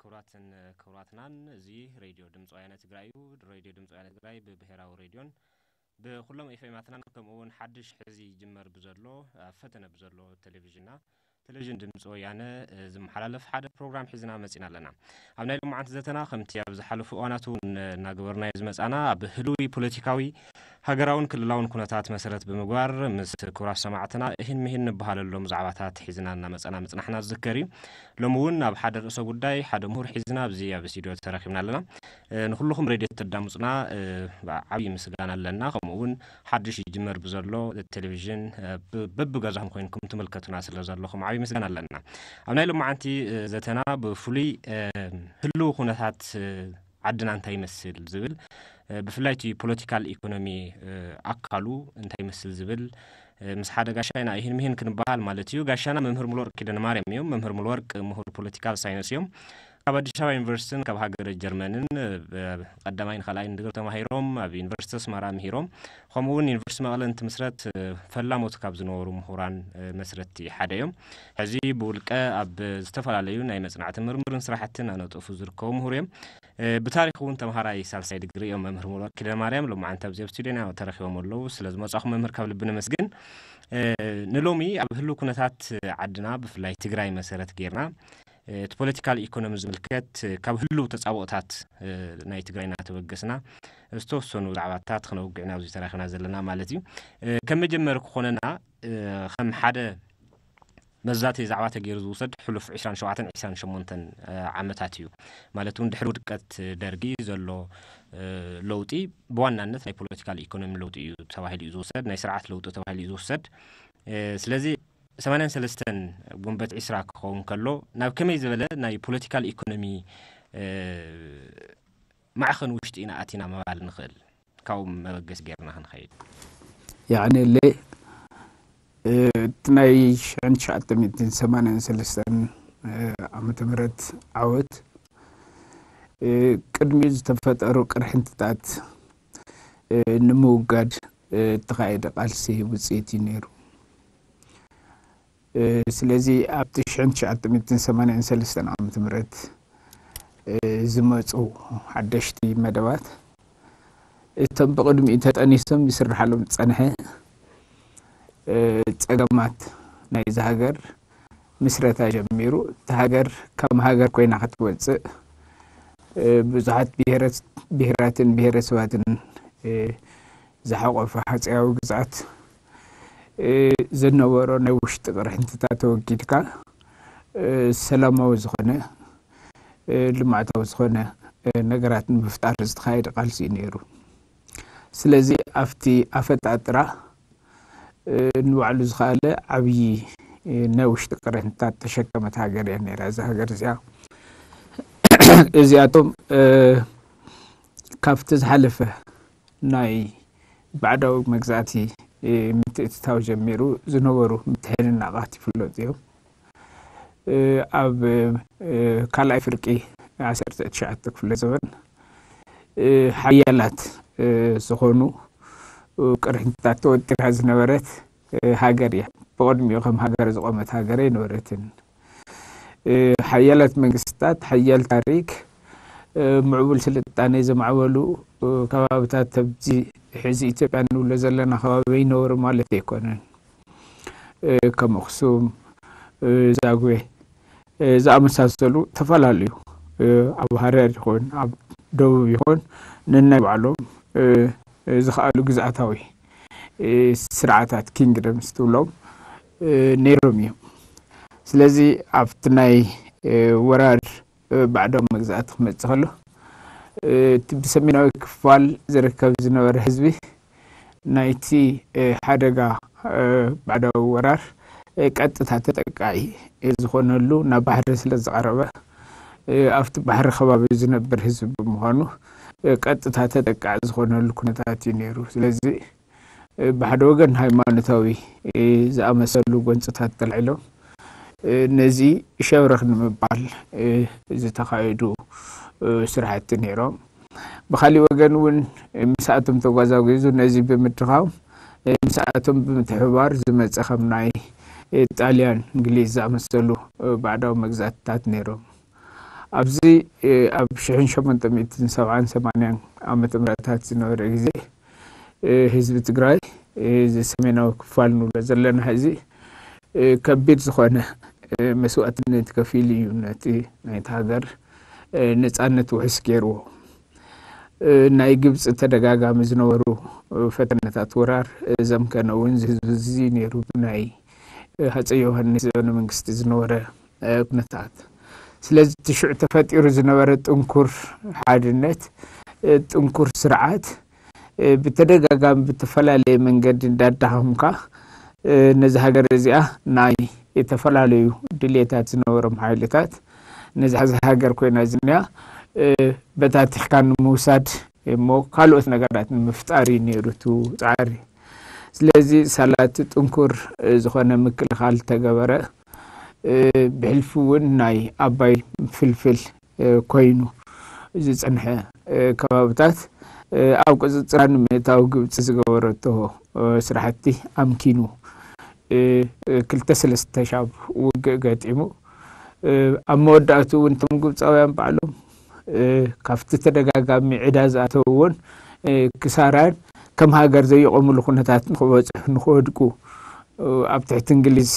ክቡራትን ክቡራትናን፣ እዚ ሬድዮ ድምፂ ወያነ ትግራይ እዩ። ሬድዮ ድምፂ ወያነ ትግራይ ብብሄራዊ ሬድዮን ብኩሎም ኤፍኤማትናን፣ ከምኡ እውን ሓድሽ ሕዚ ይጅመር ብዘሎ፣ ኣብ ፈተነ ብዘሎ ቴሌቪዥንና፣ ቴሌቪዥን ድምፂ ወያነ፣ እ፣ ዝመሓላለፍ ሓደ ፕሮግራም ሒዝና መፂና ኣለና። ኣብ ናይ ሎማዓንቲ ዘተና፣ ከምቲ ኣብ ዝሓለፉ እዋናት እውን እናገበርናዮ ዝመፃና፣ ኣብ ህሉዊ ፖለቲካዊ፣ ሃገራውን ክልላውን ኩነታት መሰረት ብምግባር፣ ምስ ክቡራት ሰማዕትና እሂን ምሂን ንበሃለሎም ዛዕባታት ሒዝና እናመፃና ምፅናሕና ዝዝከር እዩ። ሎሚ እውን ኣብ ሓደ ርእሰ ጉዳይ ሓደ ምሁር ሒዝና ኣብዚ ኣብ ስቱዲዮ ተረኺብና ኣለና። እ፣ ንኹልኹም ሬድዮ ተዳምፁና፣ እ፣ ዓብዪ ምስጋና ኣለና። ከምኡ እውን ሓድሽ ይጅመር ብዘሎ ቴሌቪዥን፣ እ፣ ብ-፣ በብገዛኹም ኮይንኩም ትምልከቱና ስለ ዘለኹም ዓብዪ ምስጋና ኣለና። ኣብ ናይ ሎማዓንቲ፣ እ፣ ዘተና ብፍሉይ፣ እ፣ ህልው ኩነታት፣ እ፣ ዓድና እንታይ ይመስል ዝብል፣ እ፣ ብፍላይ እቲ ፖለቲካል ኢኮኖሚ፣ እ፣ ኣካሉ እንታይ ይመስል ዝብል፣ እ፣ ምስ ሓደ ጋሻይና እሂን ምሂን ክንበሃል ማለት እዩ። ጋሻና መምህር ሙሉወርቅ ኪዳነ ማርያም እዮም። መምህር ሙሉወርቅ ምሁር ፖለቲካል ሳይንስ እዮም። ካብ ኣዲስ ኣበባ ዩኒቨርሲቲን ካብ ሃገረ ጀርመንን፣ እ፣ ቀዳማይን ካልኣይን ድግሪ ተማሂሮም ኣብ ዩኒቨርሲቲ ኣስመራ ምሂሮም፣ ከምኡ እውን ዩኒቨርሲቲ መቐለ እንትምስረት፣ እ፣ ፈላሞት ካብ ዝነበሩ ምሁራን፣ እ፣ መስረትቲ ሓደ እዮም። ሕዚ ብውልቀ ኣብ ዝተፈላለዩ ናይ መጽናዕቲ ምርምርን ስራሕትን ኣነጥፉ ዝርከቡ ምሁር እዮም። እ፣ ብታሪኽ እውን ተምሃራይ ሳልሳይ ድግሪ እዮም። መምህር ሙሉወርቅ ኪዳነ ማርያም ሎማዓንቲ ኣብዚ ኣብ ስቱዲዮና ተረኺቦም ኣለዉ። ስለ ዝመጻኹም መምህር ካብ ልቢ ነመስግን። እ፣ ንሎሚ ኣብ ህልው ኩነታት ዓድና ብፍላይ ትግራይ መሰረት ጌርና፣ እ፣ እቲ ፖለቲካል ኢኮኖሚ ዝምልከት፣ እ፣ ካብ ህልው ተጻብኦታት፣ እ፣ ናይ ትግራይ እናተበገስና ዝተወሰኑ ዛዕባታት ክነውግዕ ኢና ኣብዚ ተራኺብና ዘለና ማለት እዩ። እ፣ ከም መጀመሪ ክኾነና፣ እ፣ ከም ሓደ መዛተዪ ዛዕባ ተገይሩ ዝውሰድ ሕሉፍ ዕስራን ሸውዓተን ዕስራን ሸሞንተን፣ እ፣ ዓመታት እዩ። ማለት እውን ድሕሪ ውድቀት ደርጊ ዘሎ፣ እ፣ ለውጢ ብዋናነት ናይ ፖለቲካል ኢኮኖሚ ለውጢ እዩ ተባሂሉ እዩ ዝውሰድ፣ ናይ ስርዓት ለውጢ ተባሂሉ እዩ ዝውሰድ። እ፣ ስለዚ ሰማንያን ሰለስተን ጉንበት ዕስራ ክኸውን ከሎ ናብ ከመይ ዝበለ ናይ ፖለቲካል ኢኮኖሚ፣ እ፣ ማዕኸን ውሽጢ ኢና ኣቲና ምባል ንኽእል? ካብኡ መበገሲ ጌርና ክንኸይድ። ያዕኒ፣ ለ-፣ እ፣ እቲ ናይ ሽሕን ትሽዓተ ሚእትን ሰማንያን ሰለስተን፣ እ፣ ዓመተ ምህረት ዓወት፣ እ፣ ቅድሚኡ ዝተፈጠሩ ቅርሕንትታት፣ እ፣ ንምውጋድ፣ እ፣ እተኻየደ ቃልሲ ውፅኢት እዩ ነይሩ። እ፣ ስለዚ ኣብቲ ሽሕን ትሽዓተ ሚእትን ሰማንያን ሰለስተን ዓመተ ምህረት፣ እ፣ ዝመጹ ሓደሽቲ መደባት፣ እቶም ብቕድሚኡ ተጠኒሶም ይስርሓሎም ዝጸንሐ፣ እ፣ ጸገማት ናይዚ ሃገር ምስረታ ጀሚሩ፣ እታ ሃገር ከም ሃገር ኮይና ክትወጽእ፣ እ፣ ብዙሓት ብሄረት-፣ ብሄራትን ብሄረሰባትን፣ እ፣ ዝሓቖፈ ሃፀያዊ ግዝኣት፣ እ፣ ዝነበሮ ናይ ውሽጢ ቅርሕንትታት ተወጊድካ፣ እ፣ ሰላማዊ ዝኾነ፣ እ፣ ልምዓታዊ ዝኾነ፣ እ፣ ነገራት ንምፍጣር ዝተኻየደ ቃልሲ እዩ ነይሩ። ስለዚ ኣብቲ ኣፈጣጥራ፣ እ፣ ንባዕሉ ዝኸኣለ ዓብዪ፣ እ፣ ናይ ውሽጢ ቅርሕንትታት ተሸከመት ሃገር እያ ነይራ እዛ ሃገር እዚኣ። እዚኣቶም፣ እ፣ ካብቲ ዝሓለፈ ናይ ባዕዳዊ መግዛእቲ፣ እ፣ ምትእትታው ጀሚሩ ዝነበሩ ምትሕንናቓት ይፍለጡ እዮም። እ፣ ኣብ፣ እ፣ ካልኣይ ፍርቂ ዓሰርተ ትሽዓተ ክፍለ ዘመን፣ እ፣ ሓያላት፣ እ፣ ዝኾኑ፣ እ፣ ቅርሕንትታት ተወጢራ ዝነበረት፣ እ፣ ሃገር እያ። ብቕድሚኡ ከም ሃገር ዝቖመት ሃገር ኣይነበረትን። እ፣ ሓያላት መንግስታት፣ ሓያል ታሪክ፣ እ፣ ምዕቡል ስልጣኔ ዘማዕበሉ፣ እ፣ ከባብታት ኣብዚ ሕዚ ኢትዮጵያ እንብሎ ዘለና ከባቢ ይነበሩ ማለት ኣይኮነን። እ፣ ከም ኣኽሱም፣ እ፣ ዛጉዌ፣ እ፣ ዝኣመሳሰሉ ተፈላለዩ፣ እ፣ ኣብ ሃረር ይኹን ኣብ ደቡብ ይኹን ነናይ ባዕሎም፣ እ፣ እ፣ ዝኸኣሉ ግዝኣታዊ፣ እ፣ ስርዓታት፣ ኪንግደምስ ትብሎም፣ እ፣ ነይሮም እዮም። ስለዚ ኣብቲ ናይ፣ እ፣ ወራር፣ እ፣ ባዕዳዊ መግዛእቲ ክመጽእ ከሎ፣ እ፣ እቲ ብሰሜናዊ ክፋል ዝርከብ ዝነበረ ህዝቢ ናይቲ፣ እ፣ ሓደጋ፣ እ፣ ባዕዳዊ ወራር፣ እ፣ ቀጥታ ተጠቃዒ፣ እ፣ ዝኾነሉ ናብ ባሕሪ ስለ ዝቐረበ፣ እ፣ ኣብቲ ባሕሪ ከባቢ ዝነብር ህዝቢ ብምዃኑ፣ እ፣ ቀጥታ ተጠቃዒ ዝኾነሉ ኩነታት እዩ ነይሩ። ስለዚ፣ እ፣ ብሓደ ወገን ሃይማኖታዊ፣ እ፣ ዝኣመሰሉ ጎንፅታት ተልዒሎም፣ እ፣ ነዚ ሸብረኽ ንምባል፣ እ፣ ዝተኻየዱ፣ እ፣ ስራሕቲ ነይሮም። ብኻሊእ ወገን እውን፣ እ፣ ምስኣቶም ተጓዛጒዙ ነዚ ብምድኻም፣ እ፣ ምስኣቶም ብምትሕብባር ዝመፀ ከም ናይ፣ እ፣ ጣልያን፣ እንግሊዝ ዝኣመሰሉ፣ እ፣ ባዕዳዊ መግዛእትታት ነይሮም። ኣብዚ ኣብ ሽሕን ሸሞንተ ሚእትን ሰብዓን ሰማንያን ዓመተ ምህረታት ዝነበረ ግዜ ህዝቢ ትግራይ፣ እዚ ሰሜናዊ ክፋል ንብሎ ዘለና እዚ፣ ከቢድ ዝኾነ መስዋእትነት ከፊሉ እዩ ነቲ ናይቲ ሃገር ነፃነት ውሕስ ገይርዎ። ናይ ግብፂ ተደጋጋሚ ዝነበሩ ፈተነታት ወራር ዘምከነ እውን ህዝቢ እዚ ነይሩ፣ ብናይ ሃፀይ ዮሃንስ ዘበነ መንግስቲ ዝነበረ ኩነታት። ስለዚ እቲ ሽዑ ተፈጢሩ ዝነበረ ጥንኩር ሓድነት፣ ጥንኩር ስርዓት፣ ብተደጋጋሚ ብተፈላለየ መንገዲ እንዳዳኸምካ፣ ነዚ ሃገር እዚኣ ናይ የተፈላለዩ ድሌታት ዝነበሮም ሓይልታት ነዚ ሃገር ኮይና ዝኒያ በታቲኽካ ንምውሳድ እሞ ካልኦት ነገራት ንምፍጣር እዩ ነይሩ እቲ ፃዕሪ። ስለዚ ሳላቲ ጥንኩር ዝኾነ ምክልኻል ተገበረ። ብሕልፊ እውን ናይ ኣባይ ፍልፍል ኮይኑ ዝፀንሐ ከባብታት ኣብ ቁፅፅራ ንምእታው ግብፂ ዝገበረቶ ስራሕቲ ኣምኪኑ ክልተ ሰለስተ ሻብ ውግእ ገጢሙ። ኣብ መወዳእቱ እውን እቶም ግብፃውያን ባዕሎም ካብቲ ተደጋጋሚ ዕዳ ዝኣተውዎን ክሳራን ከም ሃገር ዘይቆምሉ ኩነታት ንክበፅሑ ንክወድቁ ኣብ ትሕቲ እንግሊዝ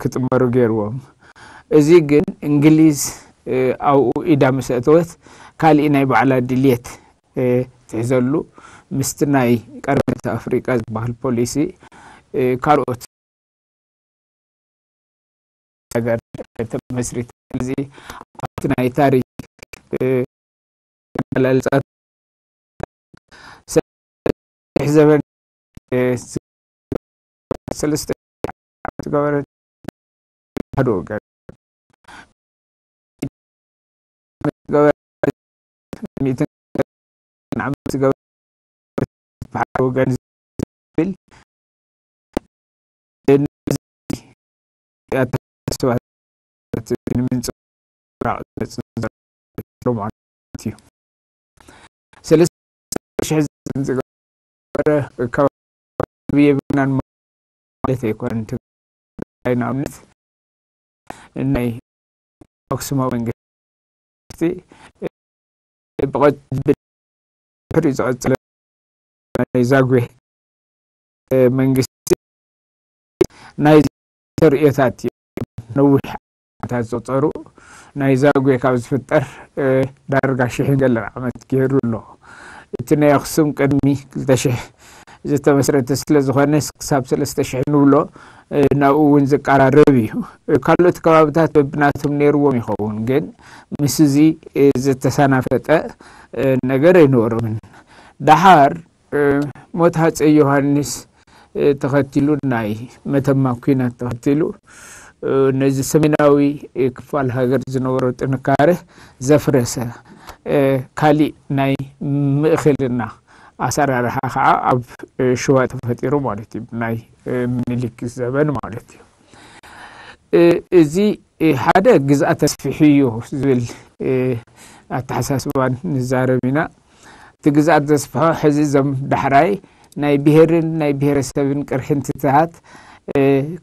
ክጥመሩ ገይርዎም። እዚ ግን እንግሊዝ ኣብኡ ኢዳ ምስ ኣእተወት ካሊእ ናይ ባዕላ ድልየት ትሕዘሉ ምስቲ ናይ ቀርነት ኣፍሪቃ ዝበሃል ፖሊሲ ካልኦት ነገር ተመስሪታ። ስለዚ ኣብቲ ናይ ታሪክ ኣገላልፃ ሰፊሕ ዘበን ሰለስተ ዓመት ዝገበረ ሓደ ወገን ዓመት ዝገበረ ዓመት ዝገበረ ሓደ ወገን ዝብል ኣተሓሳስባ ንምንፅብራቕ ዝመፅእ ዘሎ ማለት እዩ። ሰለስተ ሽሕ ዝገበረ ከባቢ የብልናን ማለት ኣይኮነን። ትግራይ ንኣብነት ናይ ኣክሱማዊ መንግስቲ ብቐ- ብድሕሪኡ ዝቐፀለ ናይ ዛጉዌ መንግስቲ ናይ ተርእዮታት እዩ። ነዊሕ ዓመታት ዘቑፀሩ ናይ ዛጉዌ ካብ ዝፍጠር ዳርጋ ሽሕን ገለን ዓመት ገይሩ ኣሎ። እቲ ናይ ኣክሱም ቅድሚ ክልተ ሽሕ ዝተመስረተ ስለ ዝኾነ ክሳብ ሰለስተ ሽሕ ንብሎ ናብኡ እውን ዝቀራረብ እዩ። ካልኦት ከባብታት በብናቶም ነይርዎም ይኸውን፣ ግን ምስ እዚ ዝተሰናፈጠ ነገር ኣይነበሮምን። ደሓር ሞት ሃፀይ ዮሃንስ ተኸቲሉ፣ ናይ መተማ ኲናት ተኸቲሉ ነዚ ሰሜናዊ ክፋል ሃገር ዝነበሮ ጥንካረ ዘፍረሰ ካሊእ ናይ ምእኽልና ኣሰራርሓ ከዓ ኣብ ሽዋ ተፈጢሩ ማለት እዩ፣ ናይ ምኒልክ ዘበን ማለት እዩ። እዚ ሓደ ግዝኣት ተስፊሑ እዩ ዝብል ኣተሓሳስባን ንዛረብ ኢና። እቲ ግዝኣት ዘስፍሖ ሕዚ እዞም ዳሕራይ ናይ ብሄርን ናይ ብሄረሰብን ቅርሕንትታት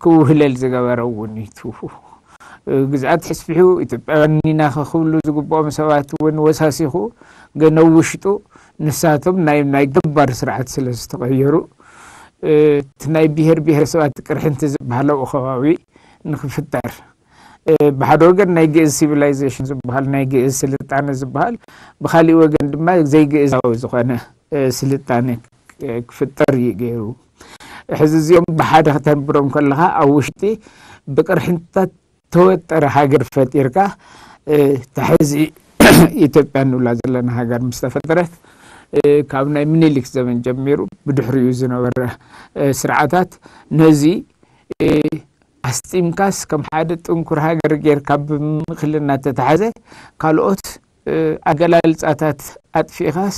ክውህለል ዝገበረ እውን እዩ። ግዝኣት ተስፊሑ ኢትዮጵያውያን ኢና ክብሉ ዝግብኦም ሰባት እውን ወሳሲኹ፣ ግን ኣብ ውሽጡ ንሳቶም ናይ ናይ ገባር ስርዓት ስለ ዝተቐየሩ እቲ ናይ ብሄር ብሄረሰባት ቅርሕንቲ ዝበሃል ኣብኡ ከባቢ ንክፍጠር ብሓደ ወገን ናይ ግእዝ ሲቪላይዜሽን ዝበሃል ናይ ግእዝ ስልጣነ ዝበሃል ብካሊእ ወገን ድማ ዘይግእዛዊ ዝኾነ ስልጣነ ክፍጠር እዩ ገይሩ። ሕዚ እዚኦም ብሓደ ከተንብሮም ከለኻ ኣብ ውሽጢ ብቅርሕንትታት ተወጠረ ሃገር ፈጢርካ ተሕዚ ኢትዮጵያ እንብላ ዘለና ሃገር ምስ ተፈጠረት ካብ ናይ ምኒልክ ዘመን ጀሚሩ ብድሕሪኡ ዝነበረ ስርዓታት ነዚ ኣስጢምካስ ከም ሓደ ጥንኩር ሃገር ጌርካ ብምእክልና ተተሓዘ ካልኦት ኣገላልፃታት ኣጥፊእኻስ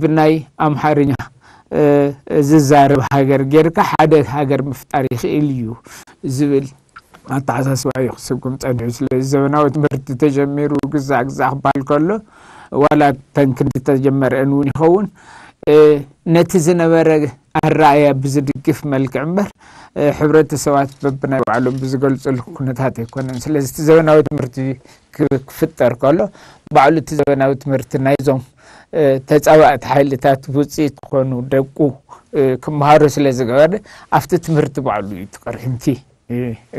ብናይ ኣምሓርኛ ዝዛረብ ሃገር ጌርካ ሓደ ሃገር ምፍጣር ይኽእል እዩ ዝብል ኣተሓሳስባ እዩ ክስጉም ፀኒሑ። ስለዚ ዘበናዊ ትምህርቲ ተጀሚሩ ግዛዕ ግዛዕ ክበሃል ከሎ ዋላ ተን ክንዲ ተጀመረአን እውን ይኸውን ነቲ ዝነበረ ኣረኣእያ ብዝድግፍ መልክዕ እምበር፣ ሕብረተሰባት በብናይ ባዕሎም ብዝገልፅሉ ኩነታት ኣይኮነን። ስለዚ እቲ ዘበናዊ ትምህርቲ ክፍጠር ከሎ፣ ባዕሉ እቲ ዘበናዊ ትምህርቲ ናይዞም ተፃባእቲ ሓይልታት ውፅኢት ዝኾኑ ደቁ ክመሃሩ ስለ ዝገበረ፣ ኣብቲ ትምህርቲ ባዕሉ እዩ እቲ ቅርሕንቲ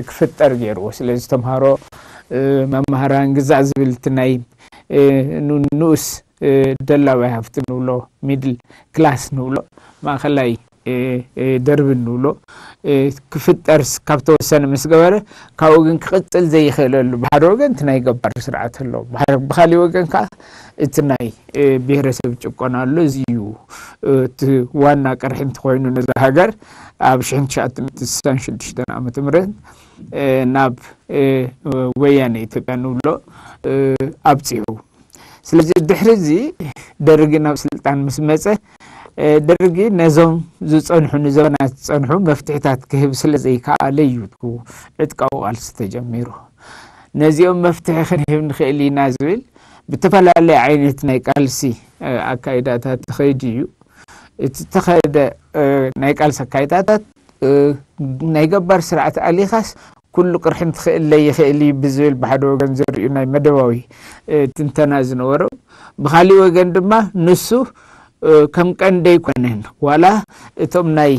ክፍጠር ገይርዎ። ስለዚ ተምሃሮ፣ መምሃራን፣ ግዛዕ ዝብል እቲ ናይ ንኡስ ደላዋይ ሃፍቲ ንብሎ፣ ሚድል ክላስ ንብሎ፣ ማእኸላይ ደርቢ ንብሎ ክፍጠር ካብ ተወሰነ ምስ ገበረ፣ ካብኡ ግን ክቕፅል ዘይኽእለሉ፣ ብሓደ ወገን እቲ ናይ ገባር ስርዓት ኣሎ፣ ብኻሊእ ወገን ከዓ እቲ ናይ ብሄረሰብ ጭቆና ኣሎ። እዚ እዩ እቲ ዋና ቅርሒ እንተኮይኑ ነዛ ሃገር ኣብ ሽሕን ትሽዓተ ሚእትን ስሳን ሽዱሽተን ዓመተ ምህረት ናብ ወያነ ኢትዮጵያ ንብሎ ኣብፂሑ። ስለዚ ድሕሪ እዚ ደርጊ ናብ ስልጣን ምስ መፀ፣ ደርጊ ነዞም ዝፀንሑ፣ ንዘበናት ዝፀንሑ መፍትሕታት ክህብ ስለ ዘይከኣለ እዩ ዕጥቃዊ ቃልሲ ተጀሚሩ። ነዚኦም መፍትሒ ክንህብ ንኽእል ኢና ዝብል ብተፈላለየ ዓይነት ናይ ቃልሲ ኣካይዳታት ተኸይዱ እዩ። እቲ ተኸይደ ናይ ቃልሲ ኣካይዳታት ናይ ገባር ስርዓት ኣሊኻስ ኩሉ ቅርሒ እንትኽእል ለይኽእል እዩ ብዝብል ብሓደ ወገን ዘርእዩ ናይ መደባዊ ትንተና ዝነበሮ፣ ብኻሊእ ወገን ድማ ንሱ ከም ቀንዲ ኣይኮነን፣ ዋላ እቶም ናይ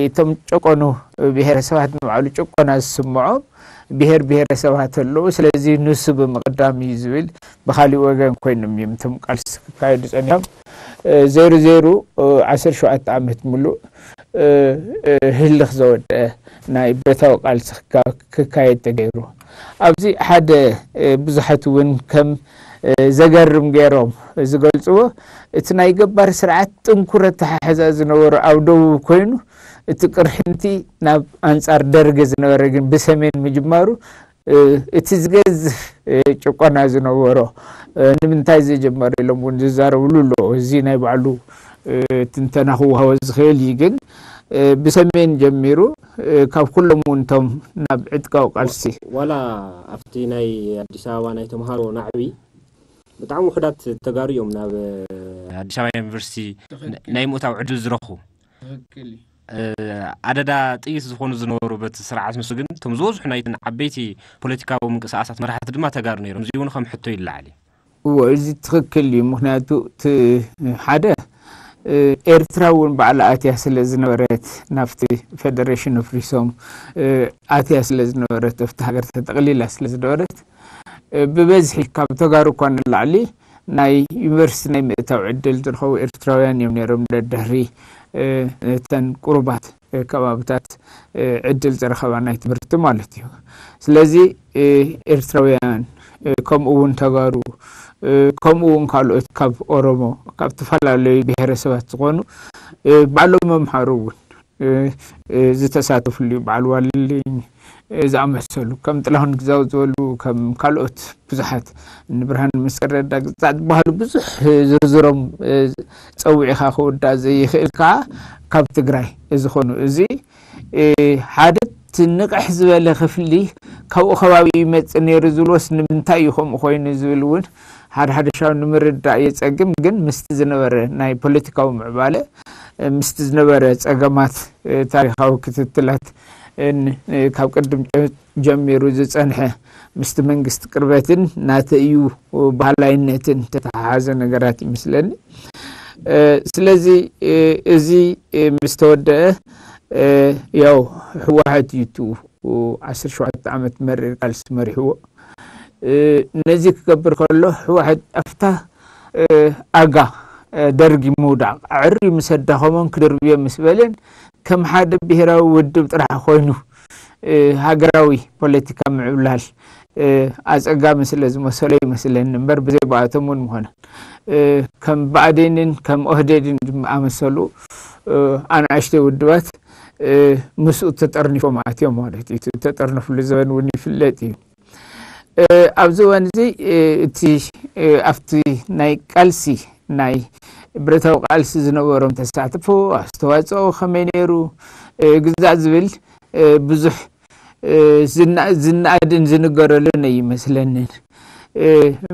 እቶም ጨቆኑ ብሄረሰባት ንባዕሉ ጭቆና ዝስምዖም ብሄር ብሄረሰባት ኣለዉ። ስለዚ ንሱ ብምቕዳም እዩ ዝብል ብኻሊእ ወገን ኮይኖም እዮም እቶም ቃልሲ ክካየዱ ጸኒሖም። ዜሩ ዜሩ ዓሰርተ ሸውዓተ ዓመት ሙሉእ ህልኽ ዘወደአ ናይ ብረታዊ ቃልሲ ክካየድ ተገይሩ። ኣብዚ ሓደ ብዙሓት እውን ከም ዘገርም ገይሮም ዝገልፅዎ፣ እቲ ናይ ገባር ስርዓት ጥንኩር ኣተሓሕዛ ዝነበሮ ኣብ ደቡብ ኮይኑ፣ እቲ ቅርሕንቲ ናብ ኣንፃር ደርጊ ዝነበረ ግን ብሰሜን ምጅማሩ፣ እቲ ዝገዝፍ ጭቆና ዝነበሮ ንምንታይ ዝጀመረ ኢሎም እውን ዝዛረብሉ ኣለዉ። እዚ ናይ ባዕሉ ትንተና ክወሃቦ ዝኽእል እዩ። ግን ብሰሜን ጀሚሩ፣ ካብ ኩሎም እውን እቶም ናብ ዕጥቃዊ ቃልሲ ዋላ ኣብቲ ናይ ኣዲስ ኣበባ ናይ ተምሃሮ ናዕቢ ብጣዕሚ ውሑዳት ተጋሩ እዮም ናብ ኣዲስ ኣበባ ዩኒቨርሲቲ ናይ ምእታው ዕድል ዝረኽቡ። ኣደዳ ጥይት ዝኾኑ ዝነበሩ በቲ ስርዓት ንሱ ግን እቶም ዝበዝሑ ናይትን ዓበይቲ ፖለቲካዊ ምንቅስቃሳት መራሕቲ ድማ ተጋሩ ነይሮም። እዚ እውን ከም ሕቶ ይለዓል እዩ። እዎ፣ እዚ ትኽክል እዩ። ምኽንያቱ እቲ ሓደ ኤርትራ እውን ባዕላ ኣትያ ስለ ዝነበረት፣ ናብቲ ፌደሬሽን ኣፍሪሶም ኣትያ ስለ ዝነበረት፣ ኣብቲ ሃገር ተጠቕሊላ ስለ ዝነበረት፣ ብበዝሒ ካብ ተጋሩ እኳ ንላዕሊ ናይ ዩኒቨርሲቲ ናይ ምእታው ዕድል ዝረኸቡ ኤርትራውያን እዮም ነይሮም፣ ደድሕሪ እተን ቁሩባት ከባብታት ዕድል ዝረኸባ ናይ ትምህርቲ ማለት እዩ። ስለዚ ኤርትራውያን፣ ከምኡ እውን ተጋሩ፣ ከምኡ እውን ካልኦት ካብ ኦሮሞ፣ ካብ ዝተፈላለዩ ብሄረሰባት ዝኾኑ ባዕሎም መምሃሩ እውን ዝተሳተፍሉ እዩ። በዓል ዋልልኝ ዝኣመሰሉ፣ ከም ጥላሁን ግዛው ዝበሉ፣ ከም ካልኦት ብዙሓት፣ ንብርሃን መስቀል ረዳ ግዛዕ ዝበሃሉ ብዙሕ ዝርዝሮም ጸዊዕኻ ክውዳእ ዘይኽእል ከዓ ካብ ትግራይ ዝኾኑ፣ እዚ ሓደ እቲ ንቕሕ ዝበለ ክፍሊ ካብኡ ከባቢ ይመጽእ ነይሩ ዝብልዎስ ንምንታይ እዩ ከምኡ ኮይኑ ዝብል እውን ሓደ ሓደ ሻው ንምርዳእ የጸግም። ግን ምስቲ ዝነበረ ናይ ፖለቲካዊ ምዕባለ፣ ምስቲ ዝነበረ ጸገማት፣ ታሪኻዊ ክትትላት፣ ካብ ቅድም ጀሚሩ ዝጸንሐ ምስቲ መንግስቲ ቅርበትን ናተዩ ባህላይነትን ተተሓሓዘ ነገራት ይመስለኒ። ስለዚ እዚ ምስ ተወደአ፣ ያው ህወሓት እዩ እቲ ዓሰርተ ሸውዓተ ዓመት መሪር ቃልሲ መሪሕዎ። ነዚ ክገብር ከሎ ህወሓት ኣብታ ኣጋ ደርጊ ምውዳቕ ኣዕርዩ ምስ ኣዳኸሞን ክድርብዮ ምስ በለን ከም ሓደ ብሄራዊ ውድብ ጥራሕ ኮይኑ ሃገራዊ ፖለቲካ ምዕብላል ኣጸጋሚ ስለ ዝመሰሎ ይመስለኒ እምበር ብዘይ ብኣቶም እውን ምኾነ ከም ብኣዴንን ከም ኦህዴድን ዝኣመሰሉ ኣናእሽተይ ውድባት ምስኡ ተጠርኒፎም ኣትዮም ማለት እዩ። ተጠርነፍሉ ዘበን እውን ይፍለጥ እዩ። ኣብዚ እዋን እዚ እቲ ኣብቲ ናይ ቃልሲ ናይ ብረታዊ ቃልሲ ዝነበሮም ተሳትፎ ኣስተዋፅኦ ከመይ ነይሩ ግዛዕ ዝብል ብዙሕ ዝነኣድን ዝንገረሉን ኣይመስለንን።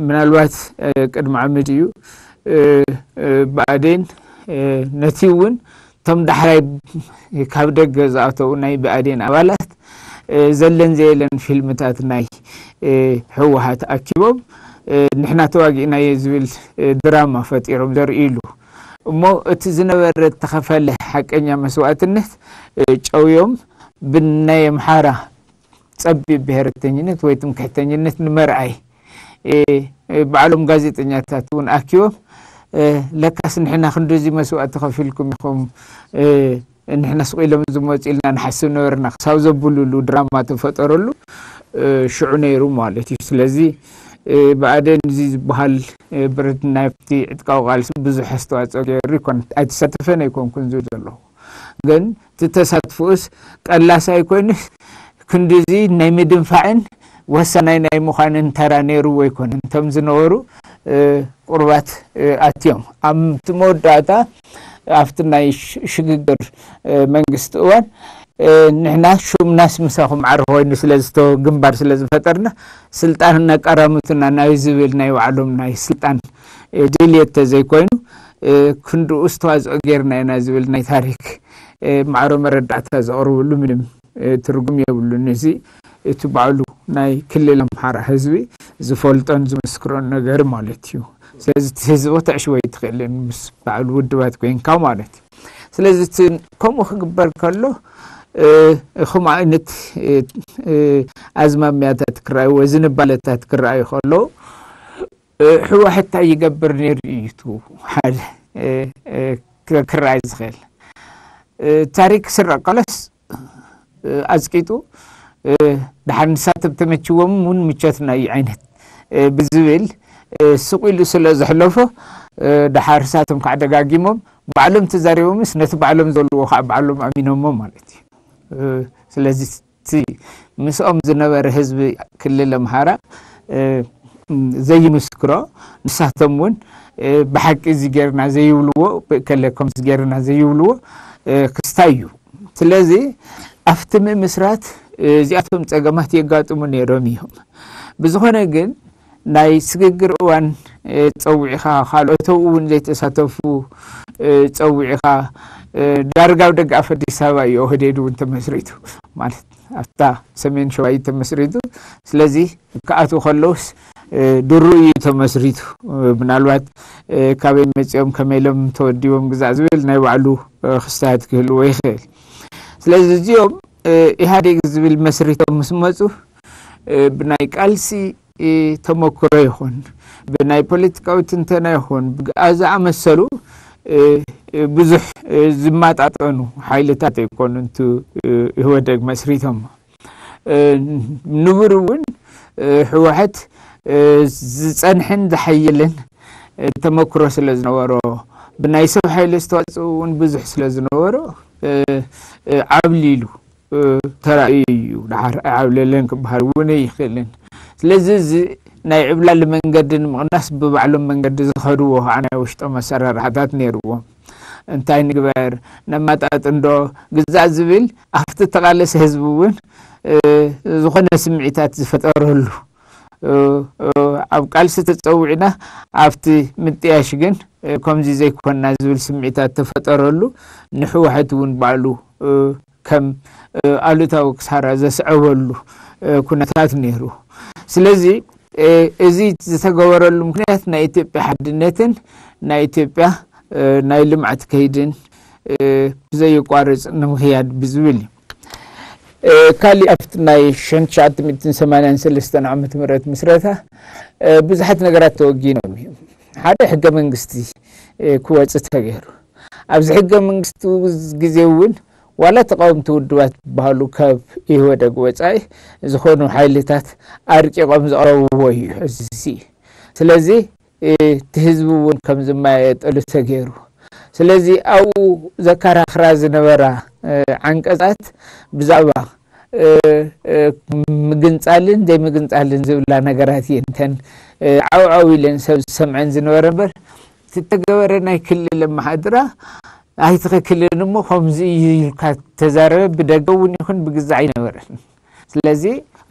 ምናልባት ቅድሚ ዓመት እዩ ብኣዴን ነቲ እውን እቶም ዳሕራይ ካብ ደገ ዝኣተዉ ናይ ብኣዴን ኣባላት ዘለን ዘየለን ፊልምታት ናይ ህወሓት ኣኪቦም ንሕና ተዋጊእናዮ ዝብል ድራማ ፈጢሮም ዘርእይሉ እሞ እቲ ዝነበረ እተኸፈለ ሓቀኛ መስዋእትነት ጨውዮም ብናይ ኣምሓራ ጸቢብ ብሄርተኝነት ወይ ትምክሕተኝነት ንምርኣይ ባዕሎም ጋዜጠኛታት እውን ኣኪቦም ለካስ ንሕና ክንድዚ መስዋእቲ ከፊልኩም ኢኹም ንሕና ስቕ ኢሎም ዝመፁ ኢልና ንሓስብ ነበርና ክሳብ ዘብሉሉ ድራማ ተፈጠረሉ ሽዑ ነይሩ ማለት እዩ። ስለዚ ብኣደን እዚ ዝበሃል ብረት ናብቲ ዕጥቃዊ ቃልሲ ብዙሕ ኣስተዋፅኦ ገይሩ ኣይተሳተፈን ኣይኮንኩን ዝብል ዘለኹ ግን እቲ ተሳትፎኡስ ቀላስ ኣይኮይንስ ክንድዚ ናይ ምድንፋዕን ወሳናይ ናይ ምዃንን ተራ ነይሩ ኣይኮነን። እቶም ዝነበሩ ቁርባት ኣትዮም ኣብ መወዳእታ ኣብቲ ናይ ሽግግር መንግስቲ እዋን ንሕና ሹምናስ ምሳኹም ዓር ኮይኑ ስለዝተ ግንባር ስለዝፈጠርና ስልጣን እናቀራምቱና ናይ ዝብል ናይ ባዕሎም ናይ ስልጣን ድልየት ተዘይኮይኑ ክንድኡ ዝተዋፅኦ ጌርና ኢና ዝብል ናይ ታሪክ ማዕሮ መረዳእታ ዘቕርብሉ ምንም ትርጉም የብሉን። እዚ እቲ ባዕሉ ናይ ክልል ኣምሓራ ህዝቢ ዝፈልጦን ዝምስክሮን ነገር ማለት እዩ። ስለዚ እቲ ህዝቢ ተዕሽወ ይትኽእልን ምስ ባዕሉ ውድባት ኮይንካ ማለት እዩ። ስለዚ እቲ ከምኡ ክግበር ከሎ ከምኡ ዓይነት ኣዝማሚያታት ክረኣይዎ ዝንባለታት ክረኣዩ ከለዉ ህወሓት እንታይ ይገብር ነይሩ እዩ እቲ ሓደ ክረኣይ ዝኽእል ታሪክ ስረቀለስ ኣዝቂጡ ድሓር ንሳቶም ተመችዎም እውን ምቸትና እዩ ዓይነት ብዝብል ስቕ ኢሉ ስለ ዘሕለፎ ድሓር እሳቶም ከዓ ደጋጊሞም ባዕሎም ተዛሪቦምስ ነቲ ባዕሎም ዘልዎ ከዓ ባዕሎም ኣሚኖሞ ማለት እዩ። ስለዚ እቲ ምስኦም ዝነበረ ህዝቢ ክልል ኣምሓራ ዘይምስክሮ ንሳቶም እውን ብሓቂ እዚ ጌርና ዘይብልዎ ከለ ከምዚ ጌርና ዘይብልዎ ክስታይ እዩ። ስለዚ ኣብቲ ምምስራት እዚኣቶም ፀገማት የጋጥሙ ነይሮም እዮም። ብዝኾነ ግን ናይ ስግግር እዋን ፀዊዕኻ ካልኦት ኣብኡ እውን ዘይተሳተፉ ፀዊዕኻ ዳርጋ ኣብ ደገ ኣፍ ኣዲስ ኣበባ እዩ ኦህዴድ እውን ተመስሪቱ ማለት ኣብታ ሰሜን ሸዋ እዩ ተመስሪቱ። ስለዚ ክኣትዉ ከለውስ ድሩ እዩ ተመስሪቱ። ምናልባት ካበይ መፂኦም ከመይ ኢሎም ተወዲቦም ግዛእ ዝብል ናይ ባዕሉ ክስታት ክህልዎ ይኽእል። ስለዚ እዚኦም ኢህኣዴግ ዝብል መስሪቶም ምስ መፁ ብናይ ቃልሲ ተመክሮ ይኹን ብናይ ፖለቲካዊ ትንተና ይኹን ዝኣመሰሉ ብዙሕ ዝመጣጠኑ ሓይልታት ኣይኮኑን ኢህወደግ መስሪቶም። ንቡር እውን ህወሓት ዝፀንሕን ዝሓየልን ተመክሮ ስለ ዝነበሮ ብናይ ሰብ ሓይሊ ዝተዋፅኡ እውን ብዙሕ ስለ ዝነበሮ ዓብሊሉ ተራእዩ እዩ። ድሓር ኣይዓብለለን ክበሃል እውን ኣይኽእልን። ስለዚ እዚ ናይ ዕብላሊ መንገዲ ንምቕናስ ብባዕሎም መንገዲ ዝኸድዎ ከዓ ናይ ውሽጦም ኣሰራርሓታት ነይርዎም። እንታይ ንግበር ነማጣጥንዶ ግዛእ ዝብል ኣብቲ ተቓለሰ ህዝቢ እውን ዝኾነ ስምዒታት ዝፈጠረሉ ኣብ ቃልሲ ተፀዊዕና ኣብቲ ምጥያሽ ግን ከምዚ ዘይኮንና ዝብል ስምዒታት ተፈጠረሉ ንሕወሐት እውን ባዕሉ ከም ኣሉታዊ ክሳራ ዘስዐበሉ ኩነታት ነይሩ። ስለዚ እዚ ዝተገበረሉ ምክንያት ናይ ኢትዮጵያ ሓድነትን ናይ ኢትዮጵያ ናይ ልምዓት ከይድን ብዘይቋርፅ ንምክያድ ብዝብል እዩ። ካሊእ ኣብቲ ናይ ሸንትሽዓተ ሚእትን ሰማንያን ሰለስተን ዓመተ ምህረት ምስረታ ብዙሓት ነገራት ተወጊኖም እዮም። ሓደ ሕገ መንግስቲ ክወፅእ ተገይሩ። ኣብዚ ሕገ መንግስቲ ግዜ እውን ዋላ ተቃወምቲ ውድባት ዝበሃሉ ካብ ኢህወደግ ወፃኢ ዝኾኑ ሓይልታት ኣርቂቆም ዘቕረብዎ እዩ ሕዚ። ስለዚ እቲ ህዝቢ እውን ከም ዝመያየጠሉ ተገይሩ። ስለዚ ኣብኡ ዘከራኽራ ዝነበራ ዓንቀፃት ብዛዕባ ምግንፃልን ዘይምግንፃልን ዝብላ ነገራት እየን እተን ዓውዓው ኢለን ሰብ ዝሰምዐን ዝነበረ እምበር እቲ ተገበረ ናይ ክልል ኣመሓድራ ኣይትኽክልን እሞ ከምዚ እዩ ኢልካ ተዛረበ ብደገ እውን ይኹን ብግዛዕ ኣይነበረን። ስለዚ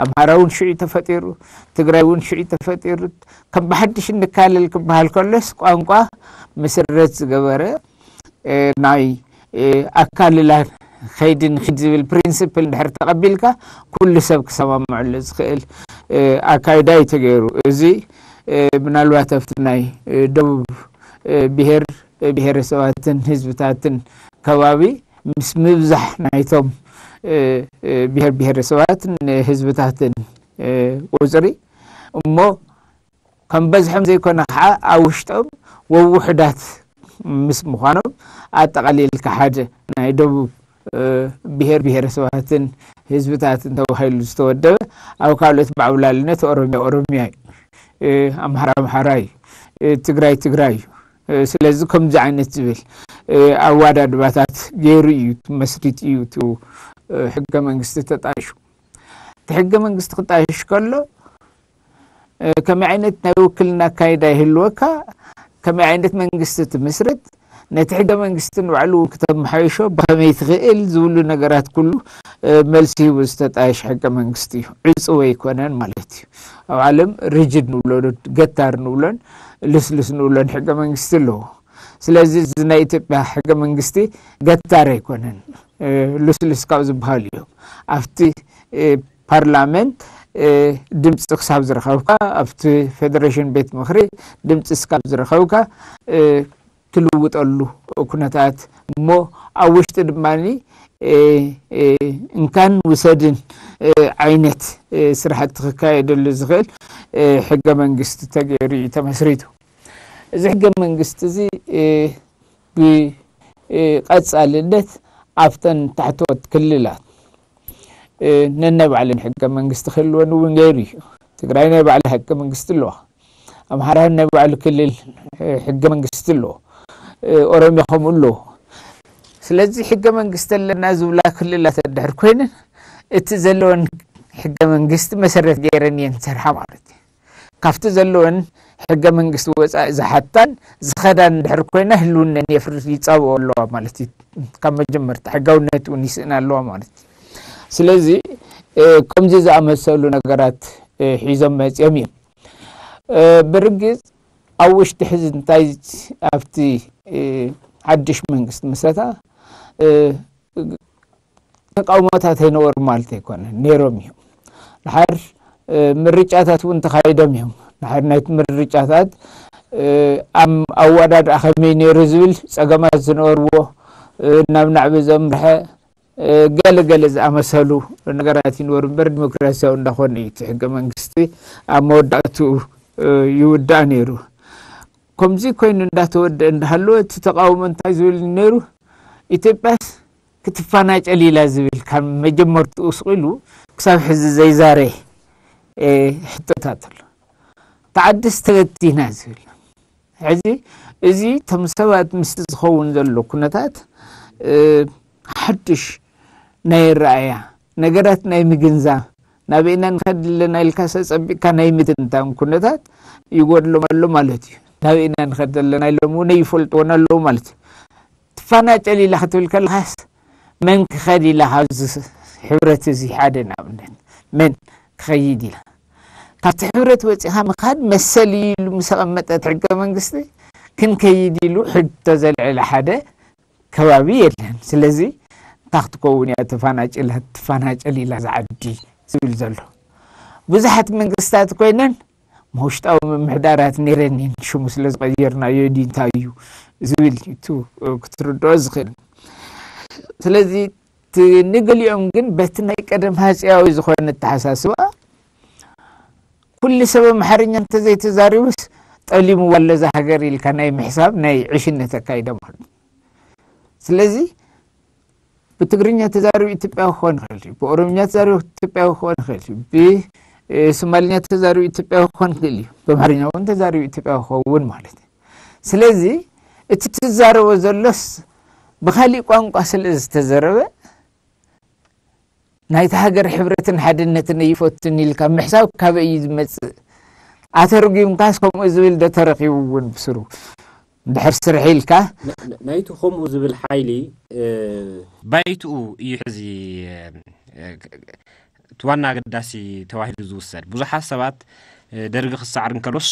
ኣምሓራ እውን ሽዑ ተፈጢሩ፣ ትግራይ እውን ሽዑ ተፈጢሩ። ከም ብሓድሽ እንካለል ክበሃል ከሎስ ቋንቋ መሰረት ዝገበረ እ፣ ናይ እ፣ ኣካልላ ኸይዲ ንኺድ ዝብል ፕሪንስፕል እንድሕር ተቐቢልካ፣ ኩሉ ሰብ ክሰማምዐሉ ዝኽእል እ፣ ኣካይዳ እዩ ተገይሩ። እዚ እ፣ ምናልባት ኣብቲ ናይ እ፣ ደቡብ እ፣ ብሔር ብሔረሰባትን ህዝብታትን ከባቢ ምስ ምብዛሕ ናይቶም እ፣ እ፣ ብሔር ብሔረሰባትን ህዝብታትን እ፣ ቁፅሪ እሞ ከም በዝሖም ዘይኮነ ከዓ ኣብ ውሽጦም ወውሑዳት ምስ ምዃኖም ኣጠቓሊልካ ሓደ ናይ ደቡብ እ፣ ብሔር ብሔረሰባትን ህዝብታትን ተባሂሉ ዝተወደበ ኣብ ካልኦት ብዓብላልነት ኦሮሚያ ኦሮሚያ እዩ፣ እ፣ ኣምሓራ ኣምሓራ እዩ፣ እ፣ ትግራይ ትግራይ እዩ። እ፣ ስለዚ ከምዚ ዓይነት ዝብል እ፣ ኣዋዳድባታት ገይሩ እዩ መስሪት እዩ እቲ እ፣ ሕገ መንግስቲ ተጣይሹ። እቲ ሕገ መንግስቲ ክጣይሽ ከሎ እ፣ ከመይ ዓይነት ናይ ውክልና ኣካይዳ ይህልወካ፣ ከመይ ዓይነት መንግስቲ ትምስርት፣ ነቲ ሕገ መንግስቲ ንባዕሉ እውን ክተመሓይሾ ብኸመይ ትኽእል ዝብሉ ነገራት ኩሉ እ፣ መልሲ ሂቡ ዝተጣየሽ ሕገ መንግስቲ እዩ። ዕፁው ኣይኮነን ማለት እዩ። ኣብ ዓለም ሪጅድ ንብሎ ዶ ገታር ንብሎን ልስልስ ንብሎን ሕገ መንግስቲ ኣለዎ። ስለዚ እዚ ናይ ኢትዮጵያ ሕገ መንግስቲ ገታር ኣይኮነን፣ እ፣ ልስልስ ካብ ዝበሃሉ እዮም። ኣብቲ እ፣ ፓርላመንት እ፣ ድምፂ ክሳብ ዝረኸብካ ኣብቲ ፌደሬሽን ቤት ምኽሪ ድምፂ ክሳብ ዝረኸብካ እ፣ ትልውጠሉ ኩነታት እሞ ኣብ ውሽጢ ድማ እ፣ እ፣ እንካን ውሰድን እ፣ ዓይነት እ፣ ስራሕቲ ክካየደሉ ዝኽእል እ፣ ሕገ መንግስቲ ተገይሩ እዩ ተመስሪቱ። እዚ ሕገ መንግስቲ እዚ እ፣ ብቀፃልነት ኣብተን ታሕተዎት ክልላት እ፣ ነናይ ባዕለን ሕገ መንግስቲ ክህልወን እውን ገይሩ እዩ። ትግራይ ናይ ባዕላ ሕገ መንግስቲ ኣለዋ። ኣምሓራ ናይ ባዕሉ ክልል እ፣ ሕገ መንግስቲ ኣለዎ። እ፣ ኦሮሚያ ከምኡ ኣለዎ። ስለዚ ሕገ መንግስቲ ኣለና ዝብላ ክልላት እንድሕር ኮይነን እቲ ዘለወን ሕገ መንግስቲ መሰረት ገይረን እየን ዝሰርሓ ማለት እዩ። ካብቲ ዘለወን ሕገ መንግስቲ ወፃኢ ዝሓታን ዝኸዳን እንድሕር ኮይና ህልውነን የፍርስ ይፃብኦ ኣለዋ ማለት እዩ። ካብ መጀመርታ ሕጋውነት እውን ይስእና ኣለዋ ማለት እዩ። ስለዚ እ፣ ከምዚ ዝኣመሰሉ ነገራት እ፣ ሒዞም መፅኦም እዮም። እ፣ ብርግፅ ኣብ ውሽጢ ሕዚ እንታይ ኣብቲ እ፣ ሓድሽ መንግስቲ ምስረታ እ፣ ተቃውሞታት ኣይነበሩ ማለት ኣይኮነን፣ ነይሮም እዮም። ድሓር እ፣ ምርጫታት እውን ተኻይዶም እዮም። ድሓር ናይቲ ምርጫታት እ፣ ኣም- ኣወዳድኣ ከመይ ነይሩ ዝብል ፀገማት ዝነበርዎ እ፣ ናብ ናዕቢ ዘምርሐ እ፣ ገለ ገለ ዝኣመሰሉ ነገራት ይንበሩ እምበር ዲሞክራሲያዊ እንዳኾነ እዩ እቲ ሕገ መንግስቲ ኣብ መወዳእትኡ እ፣ ይውዳእ ነይሩ። ከምዚ ኮይኑ እንዳተወደአ እንዳሃለወ እቲ ተቃውሞ እንታይ ዝብል ነይሩ? ኢትዮጵያስ ክትፈናጨል ኢላ ዝብል ካብ መጀመርትኡ ስቕ ኢሉ ክሳብ ሕዚ ዘይዛረ እ፣ ሕቶታት ኣሎ። ተዓድስ ተበቲና ዝብል ሕዚ እዚ እቶም ሰባት ምስቲ ዝኸውን ዘሎ ኩነታት እ፣ ሓድሽ ናይ ረኣያ ነገራት ናይ ምግንዛብ ናበይና ንኸድ ኣለና ኢልካ ሰፀቢቕካ ናይ ምትንታን ኩነታት ይጎድሎም ኣሎ ማለት እዩ። ናበይና ንኸድ ኣለና ኢሎም እውን ይፈልጥዎን ኣለዉ ማለት እዩ። ትፈናጨል ኢላ ክትብል ከለኻስ መን ክኸድ ኢላ ካብዚ ሕብረት እዚ ሓደ ንኣብነት መን ክኸይድ ኢላ ካብቲ ሕብረት ወፂኻ ምኻድ መሰል እዩ ኢሉ ምስ ኣቐመጠት ሕገ መንግስቲ ክንከይድ ኢሉ ሕቶ ዘልዕለ ሓደ ከባቢ የለን። ስለዚ እንታይ ክትከውን እያ ተፈናጭላ ትፈናጨል ኢላ ዝዓዲ ዝብል ዘሎ ብዙሓት መንግስታት ኮይነን መውሽጣዊ ምምሕዳራት ነይረን እየን ሽሙ ስለ ዝቐየርናዮ ድዩ እንታይ እዩ ዝብል እዩ ክትርድኦ ዝኽእል። ስለዚ እቲ ንገሊኦም ግን በቲ ናይ ቀደም ሃፅያዊ ዝኾነ ኣተሓሳስባ ኩሉ ሰብ ኣምሓርኛ እንተዘይተዛሪቡስ ጠሊምዋ ኣሎ እዛ ሃገር ኢልካ ናይ ምሕሳብ ናይ ዕሽነት ኣካይዳ ማለት እዩ። ስለዚ ብትግርኛ ተዛሪቡ ኢትዮጵያዊ ክኾን ይኽእል እዩ፣ ብኦሮምኛ ተዛሪቡ ኢትዮጵያዊ ክኾን ይኽእል እዩ፣ ብሶማልኛ ተዛሪቡ ኢትዮጵያዊ ክኾን ይኽእል እዩ፣ ብኣምሓርኛ እውን ተዛሪቡ ኢትዮጵያዊ ክኸውን ማለት እዩ። ስለዚ እቲ ትዛረቦ ዘሎስ ብኻሊእ ቋንቋ ስለ ዝተዘረበ ናይቲ ሃገር ሕብረትን ሓድነትን ኣይፈቱን ኢልካ ምሕሳብ ካበይ እዩ ዝመፅእ? ኣተርጒምካስ ከምኡ ዝብል ዶ ተረኺቡ እውን ብስሩ? እንድሕር ስርሒ ኢልካ ን- ን- ናይቲ ከምኡ ዝብል ሓይሊ እ፣ ባይትኡ እዩ ሕዚ እ፣ እቲ ዋና ኣገዳሲ ተባሂሉ ዝውሰድ። ብዙሓት ሰባት እ፣ ደርጊ ክሰዓር እንከሎስ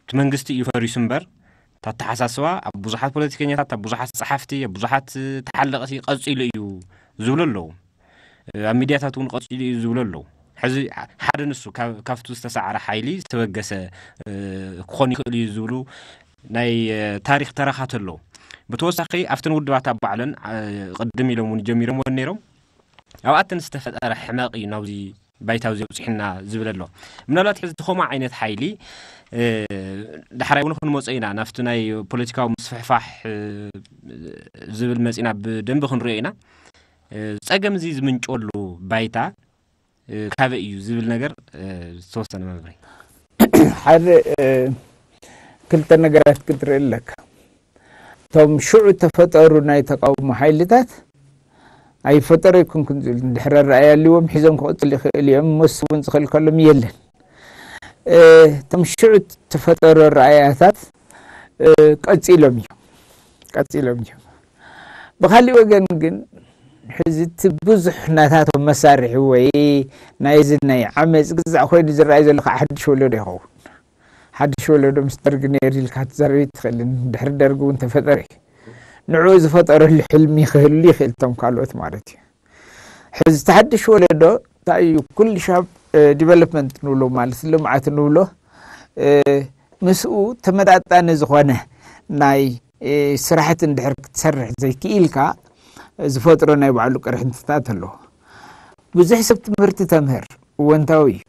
እቲ መንግስቲ እዩ ፈሪሱ እምበር ኣተሓሳስባ ኣብ ብዙሓት ፖለቲከኛታት፣ ኣብ ብዙሓት ጸሓፍቲ፣ ኣብ ብዙሓት ተሓለቕቲ ቀጺሉ እዩ ዝብሉ ኣለዉ። ኣብ ሚድያታት እውን ቀጺሉ እዩ ዝብሉ ኣለዉ። ሕዚ ሓደ ንሱ ካብ- ካብቲ ዝተሳዕረ ሓይሊ ዝተበገሰ ክኾን ይኽእል እዩ ዝብሉ ናይ ታሪክ ተረኻት ኣለዉ። ብተወሳኺ ኣብተን ውድባት ኣብ ባዕለን ቅድም ኢሎም እውን ጀሚሮምዎ ነይሮም። ኣብኣተን ዝተፈጠረ ሕመቕ እዩ ናብዚ ባይታ እዚ ኣብፅሕና ዝብል ኣሎ። ምናልባት ሕዚ ተኸምኡ ዓይነት ሓይሊ ዳሕራይ እውን ክንመፆ ኢና ናብቲ ናይ ፖለቲካዊ ምስፍሕፋሕ ዝብል መፂና ብደንቢ ክንሪኦ ኢና። ፀገም እዚ ዝምንጨሉ ባይታ ካበይ እዩ ዝብል ነገር ዝተወሰነ መብርሂ። ሓደ ክልተ ነገራት ክትርኢ ኣለካ። እቶም ሽዑ ተፈጠሩ ናይ ተቃውሞ ሓይልታት ኣይፈጠሩ ኣይኮንኩን ዝብል ድሕረ ረኣያ ኣልዎም ሒዞም ክቕፅል ይኽእል እዮም። መስ እውን ዝኽእል ከሎም የለን። እቶም ሽዑ ተፈጠሩ ረኣያታት ቀፂሎም እዮም ቀፂሎም እዮም። ብካሊእ ወገን ግን ሕዚ እቲ ብዙሕ ናታቶም መሳርሒ ወይ ናይዚ ናይ ዓመፅ ግዛዕ ኮይኑ ዝረኣይ ዘሎ ከዓ ሓድሽ ወለዶ ይኸውን። ሓድሽ ወለዶ ምስ ደርጊ ነይሩ ኢልካ ክትዛረብ ኣይትኽእልን። ድሕሪ ደርጊ እውን ተፈጠረ እዩ። ንዕኡ ዝፈጠረሉ ሕልሚ ክህሉ ይኽእል እቶም ካልኦት ማለት እዩ። ሕዚ እቲ ሓድሽ ወለዶ እንታይ እዩ ኩሉ ሻብ ዲቨሎፕመንት ንብሎ ማለት ልምዓት ንብሎ ምስኡ ተመጣጣኒ ዝኾነ ናይ ስራሕቲ እንድሕር ክትሰርሕ ዘይክኢልካ ዝፈጥሮ ናይ ባዕሉ ቅርሕንትታት ኣለዎ። ብዙሕ ሰብ ትምህርቲ ተምህር እወንታዊ እዩ።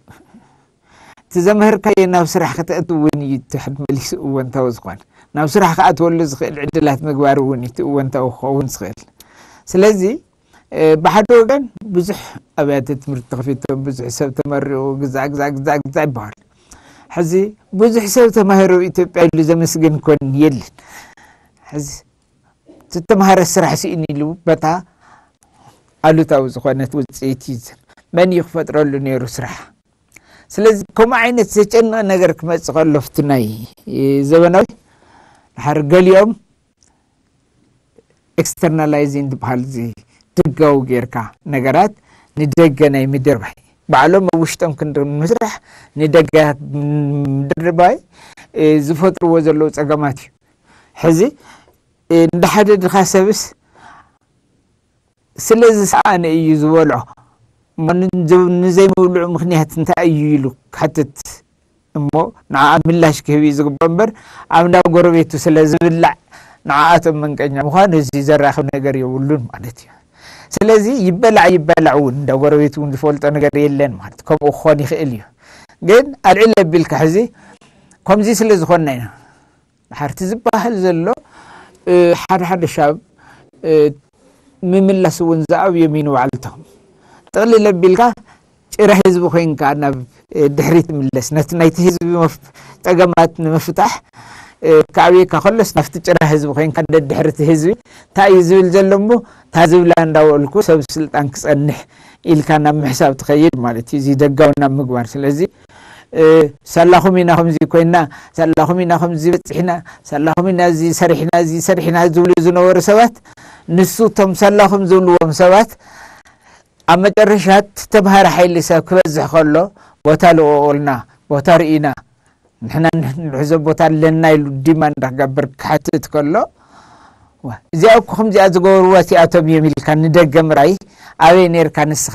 እቲ ዘምህርካዮ ናብ ስራሕ ከተእትው እውን እዩ እቲ ሕድ መሊሱ እወንታዊ ዝኾነ ናብ ስራሕ ክኣትወሉ ዝኽእል ዕድላት ምግባር እውን እዩ እቲ እወንታዊ ክኸውን ዝኽእል። ስለዚ ብሓደ ወገን ብዙሕ ኣብያተ ትምህርቲ ተኸፊቶም ብዙሕ ሰብ ተመሪቑ ግዛዕ ግዛዕ ግዛዕ ግዛዕ ይበሃል። ሕዚ ብዙሕ ሰብ ተማሂሩ ኢትዮጵያ ኢሉ ዘመስግን ኮን የለን። ሕዚ ዝተተምሃረ ስራሕ ስኢን ኢሉ በታ ኣሉታዊ ዝኾነት ውፅኢት እዩ። መን እዩ ክፈጥረሉ ነይሩ ስራሕ? ስለዚ ከምኡ ዓይነት ዘጨንቕ ነገር ክመፅእ ከሎ ፍቲ ናይ ዘበናዊ ድሓር ገሊኦም ኤክስተርናላይዚንግ ዝበሃል እዚ ደጋዊ ጌርካ ነገራት ንደገ ናይ ምድርባይ ባዕሎም ኣብ ውሽጦም ክንድር ምስራሕ ንደገ ምድርባይ ዝፈጥርዎ ዘለዉ ፀገማት እዩ። ሕዚ እንደ ሓደ ድኻ ሰብስ ስለ ዝሰኣነ እዩ ዝበልዖ። እሞ ንዘይምብልዑ ምኽንያት እንታይ እዩ ኢሉ ክሓትት እሞ ንዓ ምላሽ ክህብ እዩ ዝግባእ እምበር ኣብ እንዳ ጎረቤቱ ስለ ዝብላዕ ንዓኣቶም መንቀኛ ምዃኑ እዚ ዘራኽብ ነገር የብሉን ማለት እዩ። ስለዚ ይበላዕ ይበላዕ እውን እንዳ ጎረቤት እውን ዝፈልጦ ነገር የለን ማለት ከምኡ ክኾን ይኽእል እዩ። ግን ኣልዕል ኣቢልካ ሕዚ ከምዚ ስለ ዝኾንና ኢና ድሓርቲ ዝበሃል ዘሎ ሓደ ሓደ ሻብ ምምላስ እውን ዝኣብዮም እዩ ንባዕልቶም ጥቕልል ኣቢልካ ጭራ ህዝቢ ኮይንካ ናብ ድሕሪት ምለስ ነቲ ናይቲ ህዝቢ ጠገማት ንምፍታሕ ክኣብየካ ከሎስ ናብቲ ጭራ ህዝቢ ኮይንካ ደድሕርቲ ህዝቢ እንታይ እዩ ዝብል ዘሎ እሞ እታ ዝብላ እንዳበልኩ ሰብ ስልጣን ክፀንሕ ኢልካ ናብ ምሕሳብ ትኸይድ ማለት እዩ። እዚ ደጋዊ ናብ ምግባር ስለዚ ሳላኹም ኢና ከምዚ ኮይና ሳላኹም ኢና ከምዚ በፂሕና ሳላኹም ኢና እዚ ሰሪሕና እዚ ሰሪሕና ዝብሉ ዝነበሩ ሰባት ንሱ እቶም ሳላኹም ዝብልዎም ሰባት ኣብ መጨረሻ ተምሃሪ ሓይሊ ሰብ ክበዝሕ ከሎ ቦታ ልቀቁልና ቦታ ርኢና ንሕና ንሕዞ ቦታ ኣለና ኢሉ ዲማንድ ክገብር ክሓትት ከሎ እዚኣ እኮ ከምዚኣ ዝገበርዋ እቲኣቶም እዮም ኢልካ ንደገ ምርኣይ ኣበይ ነርካ ንስኻ?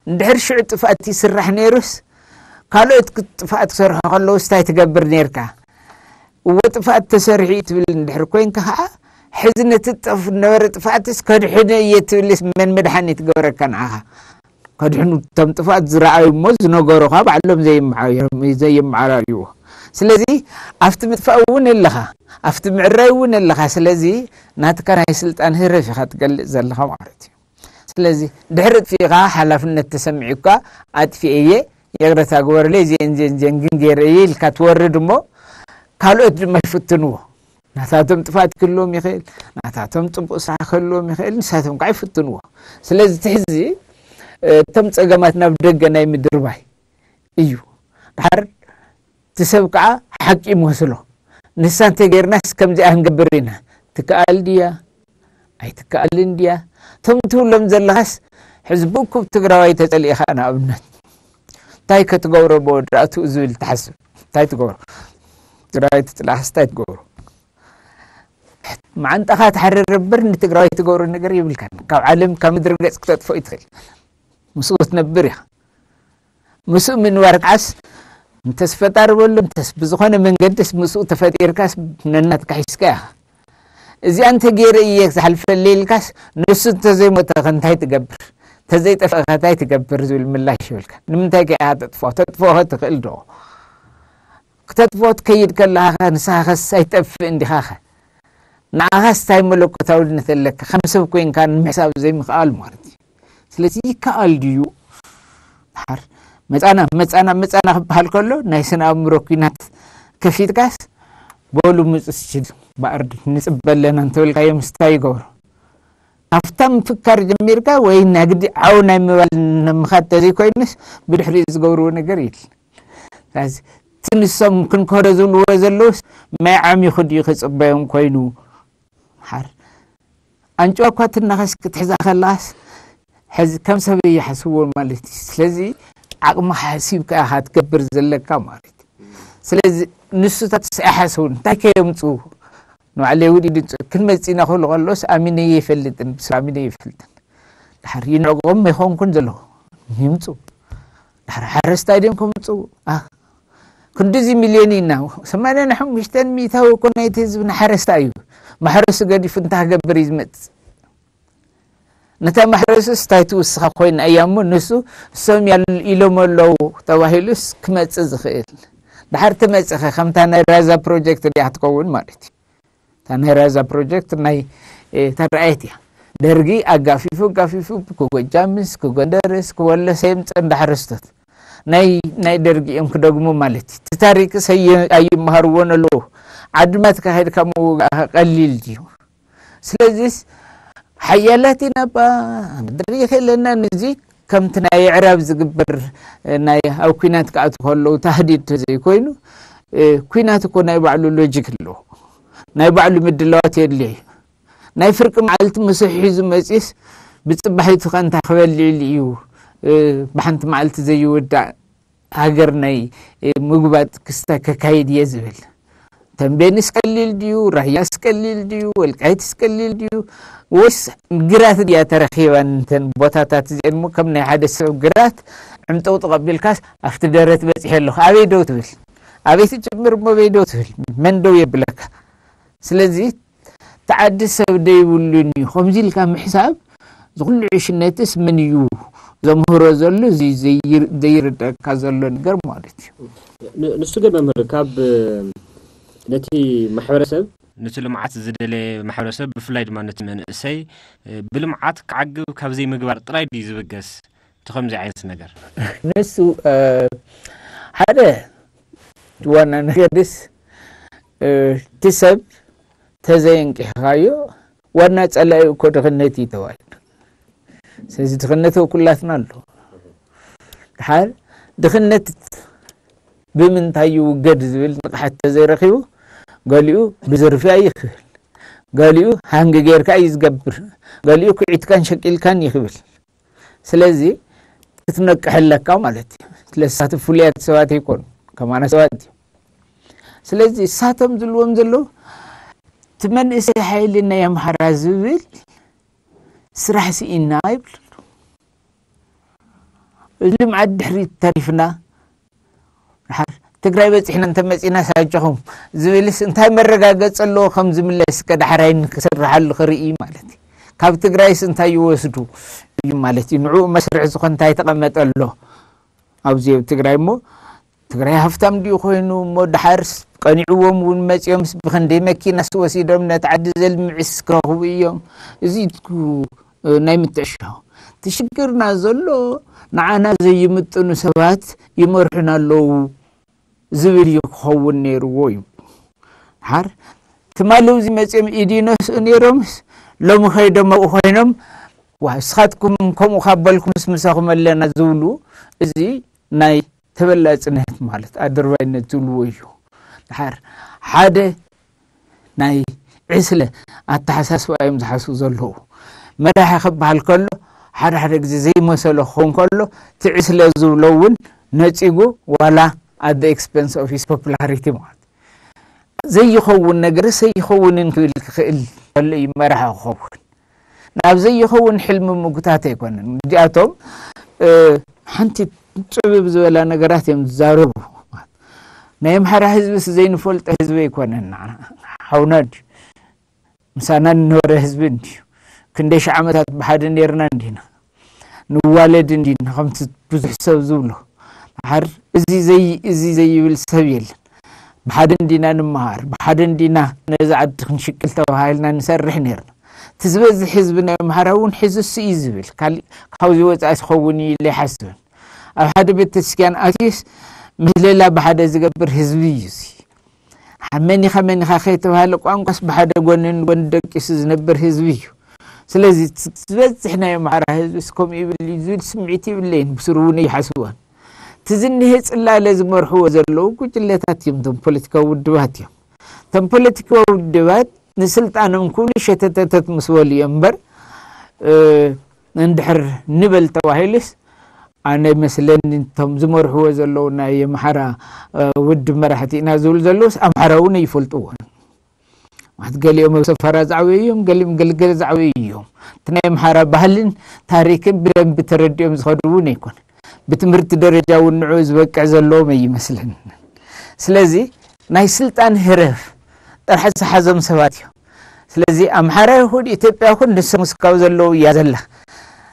እንድሕር ሽዑ ጥፍኣት ይስራሕ ነይሩስ ካልኦት ጥፍኣት ክሰርሑ ከለውስ እንታይ ትገብር ነርካ? እወ ጥፍኣት ተሰሪሑ እዩ ትብል እንድሕር ኮይንካ ከዓ ሕዚ ነቲ ጠፍ ነበረ ጥፍኣትስ ከድሕኖ እየ ትብልስ መን መድሓኒ ትገብረካ ንዓኻ? ከድሕኑ እቶም ጥፍኣት ዝረኣዩ እሞ ዝነገሩኻ ባዕሎም ዘይመዓራርይዎ። ስለዚ ኣብቲ ምጥፋእ እውን ኣለኻ ኣብቲ ምዕራይ እውን ኣለኻ። ስለዚ ናትካ ናይ ስልጣን ህረፍ ኢኻ ትገልፅ ዘለኻ ማለት እዩ። ስለዚ ድሕሪ ጥፊእኻ ሓላፍነት ተሰሚዑካ ኣጥፊኤ እየ ይቕረታ ግበርለይ እዚአን እዚአን እዚአን ግን ገይረ እየ ኢልካ ትወርድ እሞ ካልኦት ድማ ይፍትንዎ። ናታቶም ጥፋት ክህልዎም ይኽእል፣ ናታቶም ፅቡቅ ስራሕ ክህልዎም ይኽእል፣ ንሳቶም ከዓ ይፍትንዎ። ስለዚ እቲ ሕዚ እቶም ፀገማት ናብ ደገ ናይ ምድርባይ እዩ። ድሓር እቲ ሰብ ከዓ ሓቂ ይመስሎ። ንሳ እንተገይርናስ ከምዚኣ ክንገብር ኢና። ትከኣል ድያ? ኣይትከኣልን ድያ? እቶም ትብሎም ዘለኻስ ሕዚ ብእኩብ ትግራዋይ ተፀሊእኻ ንኣብነት እንታይ ከትገብሮ ብወዳእትኡ ዝብል ትሓስብ እንታይ ትገብሮ? እቲ ትግራይ ትፅላእስ እንታይ ትገብሩ? መዓንጣኻ ትሓርር እምበር ንትግራይ ትገብሩ ነገር የብልካን። ካብ ዓለም ካብ ምድሪ ገፅ ክተጥፍኦ ይትኽእል፣ ምስኡ ትነብር ኢኻ። ምስኡ ምንባር ከዓስ እንተስ ፈጣሪ በሎ እንተስ ብዝኾነ መንገድስ ምስኡ ተፈጢርካስ ነናትካ ሒዝካ ኢኻ። እዚኣ እንተገይረ እየ ዝሓልፈለይ ኢልካስ ንሱ እንተዘይሞተ ከ እንታይ ትገብር? እንተዘይጠፍአ ከ እንታይ ትገብር ዝብል ምላሽ ይብልካ። ንምንታይ ከ ኢኻ ተጥፍኦ? ተጥፍኦ ከ ትኽእል ዶ? ክተጥፍኦ ትከይድ ከለኻ ከ ንስኻ ከስ ኣይትጠፍእን ዲኻ ከ? ንዓኻስ እንታይ መለኮታውነት ኣለካ? ከም ሰብ ኮይንካ ንምሕሳብ ዘይምኽኣል ማለት እዩ። ስለዚ ይከኣል ድዩ? ድሓር መጻና መጻና መጻና ክበሃል ከሎ ናይ ስነ ኣእምሮ ኲናት ከፊትካስ በሉ ምጹ ስችል ባእርድ ንጽበ ኣለና እንተበልካዮም እንታይ ይገብሩ? ካብታ ምፍካር ጀሚርካ ወይ ናግዲ ዓው ናይ ምባል ንምኻድ ተዘይኮይኑስ ብድሕሪኡ ዝገብርዎ ነገር የለን። ስለዚ እቲ ንሶም ክንከሮ ዝብልዎ ዘለውስ ማይ ዓሚኹ ድዩ ክጽበዮም ኮይኑ? ሓር ኣንጭዋ እኳ ትናኸስ ክትሕዛ ከላስ ሕዚ ከም ሰብ ይሓስብዎ ማለት እዩ። ስለዚ ዓቕሚ ሓሲብካ ኢኻ ትገብር ዘለካ ማለት እዩ። ስለዚ ንሱታት ኣይሓስቡን እንታይ ከየምፅኡ ንባዕለይ ውዲድ ክንመፅእ ኢና ክብሉ ከሎስ ኣሚነ ይፈልጥን ብስብ ኣሚነ ይፈልጥን ድሓር ይንዕቆም ኣይኾንኩን ዘለኹ ይምፁ ድሓር ሓረስታይ ድዮም ከምፁ ክንዲዚ ሚልዮን ኢና ሰማንያን ሓሙሽተን ሚእታዊ እኮ ናይቲ ህዝቢ ንሓረስታይ እዩ። ማሕረሱ ገዲፉ እንታይ ክገብር እዩ ዝመፅእ? ነታ ማሕረሱስ እንታይ ትውስኻ ኮይና እያ እሞ ንሱ እሶም ኢሎም ኣለዉ ተባሂሉስ ክመፅእ ዝኽእል ድሓር ትመፅኸ ከምታ ናይ ራዛ ፕሮጀክት ድያ ክትከውን ማለት እዩ። እታ ናይ ራዛ ፕሮጀክት ናይ ተረኣየት እያ። ደርጊ ኣጋፊፉ ኣጋፊፉ ክጎጃምስ ክጎንደርስ ክወለሰ የምፅእ እንዳ ሓረስቶት ናይ ናይ ደርጊ እዮም ክደግሙ ማለት እዩ። እቲ ታሪክስ ኣይመሃርዎን ኣለዉ። ዓድማት ካሄድካ ምውጋእ ቀሊል ድዩ? ስለዚስ ሓያላት ኢና ባ ምድሪ የለናን እዚ ከምቲ ናይ ኣዕራብ ዝግበር ናይ ኣብ ኲናት ክኣትዉ ከለዉ ታህዲድ ተዘይኮይኑ ኲናት እኮ ናይ ባዕሉ ሎጂክ ኣለዎ። ናይ ባዕሉ ምድላዋት የድልዮ እዩ። ናይ ፍርቂ መዓልቲ ምሶሕ ሒዙ መፂስ ብፅባሒቱ ከ እንታይ ክበልዕሉ እዩ ብሓንቲ መዓልቲ ዘይውዳእ ሃገር ናይ ምጉባጥ ክስተ ከካይድ እየ ዝብል። ተንቤንስ ቀሊል ድዩ? ራያስ ቀሊል ድዩ? ወልቃይትስ ቀሊል ድዩ? ወይስ ግራት ድያ ተረኺባን እንተን ቦታታት እዚአን እሞ ከም ናይ ሓደ ሰብ ግራት ዕምጠው ተቐቢልካስ ኣብቲ ደረት በፂሐ ኣለኹ ኣበይ ደው ትብል? ኣበይ ትጅምር እሞ ኣበይ ደው ትብል? መን ደው የብለካ? ስለዚ እቲ ዓዲ ሰብ ደይብሉን እዩ ከምዚ ኢልካ ምሕሳብ ዝኩሉ ዕሽነትስ ምን እዩ ዘምህሮ ዘሎ ዘይርደካ ዘሎ ነገር ማለት እዩ። ንሱ ግን መምህር ካብ ነቲ ማሕበረሰብ ነቲ ልምዓት ዝደለየ ማሕበረሰብ ብፍላይ ድማ ነቲ መንእሰይ ብልምዓት ክዓግብ ካብ ዘይምግባር ጥራይ ድዩ ዝብገስ እቲ ከምዚ ዓይነት ነገር? ንሱ ሓደ ዋና ነገርስ እቲ ሰብ ተዘየንቂሕኻዮ ዋና ጸላኢ እኮ ድኽነት እዩ ተባሂሉ። ስለዚ ድኽነት ኣብ ኩላትና ኣሎ። ድሓር ድኽነት ብምንታይ ይውገድ ዝብል ንቕሓት ተዘይረኺቡ ገሊኡ ብዝርፍያ እዩ ክብል፣ ገሊኡ ሃንግ ጌርካ እዩ ዝገብር፣ ገሊኡ ኩዒትካን ሸቂልካን እዩ ክብል። ስለዚ ክትነቅሕ ኣለካ ማለት እዩ። ስለሳት ፍሉያት ሰባት ኣይኮኑ ከማና ሰባት እዩ። ስለዚ እሳቶም ዝልዎም ዘለዉ እቲ መንእሰይ ሓይሊ ናይ ኣምሓራ ዝብል ስራሕ ስኢና ይብሉ። እዚ ልምዓት ድሕሪት ተሪፍና ድሓር ትግራይ በፂሕና እንተመፂና ሳጆኹም ዝብልስ እንታይ መረጋገፂ ኣለዎ ከም ዝምለስ ከዳሕራይን ክስርሓሉ ክርኢ ማለት እዩ። ካብ ትግራይስ እንታይ ይወስዱ እዩ ማለት እዩ። ንዕኡ መስርሒ ዝኾን እንታይ ተቐመጠ ኣሎ ኣብዚ ኣብ ትግራይ እሞ ትግራይ ሃፍታም ድዩ ኮይኑ እሞ ድሓር ቀኒዕዎም እውን መፂኦም ብክንደይ መኪናስ ወሲዶም ነቲ ዓዲ ዘልምዕስ ክረኽቡ እዮም። እዚ ናይ ምትዕሻው እቲ ሽግርና ዘሎ ንዓና ዘይምጥኑ ሰባት ይመርሑና ኣለዉ ዝብል እዩ ክኸውን ነይርዎ እዩ። ሓር ትማሊ እዚ መፂኦም ኢድ ይነስኡ ነይሮምስ ሎሚ ከይዶም ኣብኡ ኮይኖም ዋ እስኻትኩም ከምኡ ካብ በልኩምስ ምሳኹም ኣለና ዝብሉ እዚ ናይ ተበላፅነት ማለት ኣድርባይነት ዝብልዎ እዩ። ድሓር ሓደ ናይ ዕስለ ኣተሓሳስባ እዮም ዝሓስቡ ዘለዉ። መራሒ ክበሃል ከሎ ሓደ ሓደ ግዜ ዘይመሰሎ ክኸውን ከሎ እቲ ዕስለ ዝብሎ እውን ነፂጉ ዋላ at the expense of his popularity ማለት ዘይኸውን ነገር ዘይኸውንን ክብል ክኽእል ከሎ እዩ መራሒ ክኸውን። ናብ ዘይኸውን ሕልሚ ምጉታት ኣይኮነን። እዚኣቶም ሓንቲ ጽብብ ዝበላ ነገራት እዮም ዝዛረቡ። ናይ ኣምሓራ ህዝብስ ዘይንፈልጦ ህዝቢ ኣይኮነን። ሓውና ድዩ? ምሳና ንነበረ ህዝቢ እንድዩ። ክንደይ ሺሕ ዓመታት ብሓደ ነርና እንዲና፣ ንዋለድ እንዲና፣ ከምቲ ብዙሕ ሰብ ዝብሎ። ድሓር እዚ ዘይ-፣ እዚ ዘይብል ሰብ የለን። ብሓደ እንዲና ንመሃር፣ ብሓደ እንዲና ነዚ ዓዲ ክንሽቅል ተባሂልና ንሰርሕ ነርና። እቲ ዝበዝሕ ህዝቢ ናይ ኣምሓራ እውን ሕዝሱ እዩ ዝብል፣ ካሊእ ካብዚ ወፃኢ ዝኸውን እዩ ኢለ ኣይሓስብን። ኣብ ሓደ ቤተክርስትያን ኣትዩስ ምህለላ ብሓደ ዝገብር ህዝቢ እዩ እዚ። መኒኻ መኒኻ ከይተባሃለ ቋንቋስ ብሓደ ጎኒ ንጎኒ ደቂሱ ዝነብር ህዝቢ እዩ። ስለዚ ዝበዝሕ ናይ ኣምሓራ ህዝብስ ከምኡ ይብል እዩ ዝብል ስምዒት የብለይን፣ ብስሩ እውን ይሓስብዋን። እቲ ዝኒሀ ፅላለ ዝመርሕዎ ዘለዉ ጉጅለታት እዮም፣ እቶም ፖለቲካዊ ውድባት እዮም። እቶም ፖለቲካዊ ውድባት ንስልጣኖም ኩሉ ሸተተተት ምስ በሉ እዮም እምበር፣ እ፣ እንድሕር ንበል ተባሂሉስ፣ ኣነ መስለኒ እቶም ዝመርሕዎ ዘለዉ ናይ ኣምሓራ፣ እ፣ ውድብ መራሕቲ ኢና ዝብል ዘለዉስ ኣምሓራ እውን ኣይፈልጥዎን። ማለት ገሊኦም ኣብ ሰፈራ ዝዓበዩ እዮም፣ ገሊኦም ገልገል ዝዓበዩ እዮም። እቲ ናይ ኣምሓራ ባህልን ታሪክን ብደንቢ ተረዲኦም ዝኸዱ እውን ኣይኮነ። ብትምህርቲ ደረጃ እውን ንዕኡ ዝበቅዕ ዘለዎም ኣይመስለኒ። ስለዚ ናይ ስልጣን ህረፍ ጥራሕ ዝሓዞም ሰባት እዮም። ስለዚ ኣምሓራ ይኹን ኢትዮጵያ ይኹን ንሶም እስካብ ዘለዉ እያ ዘላ፣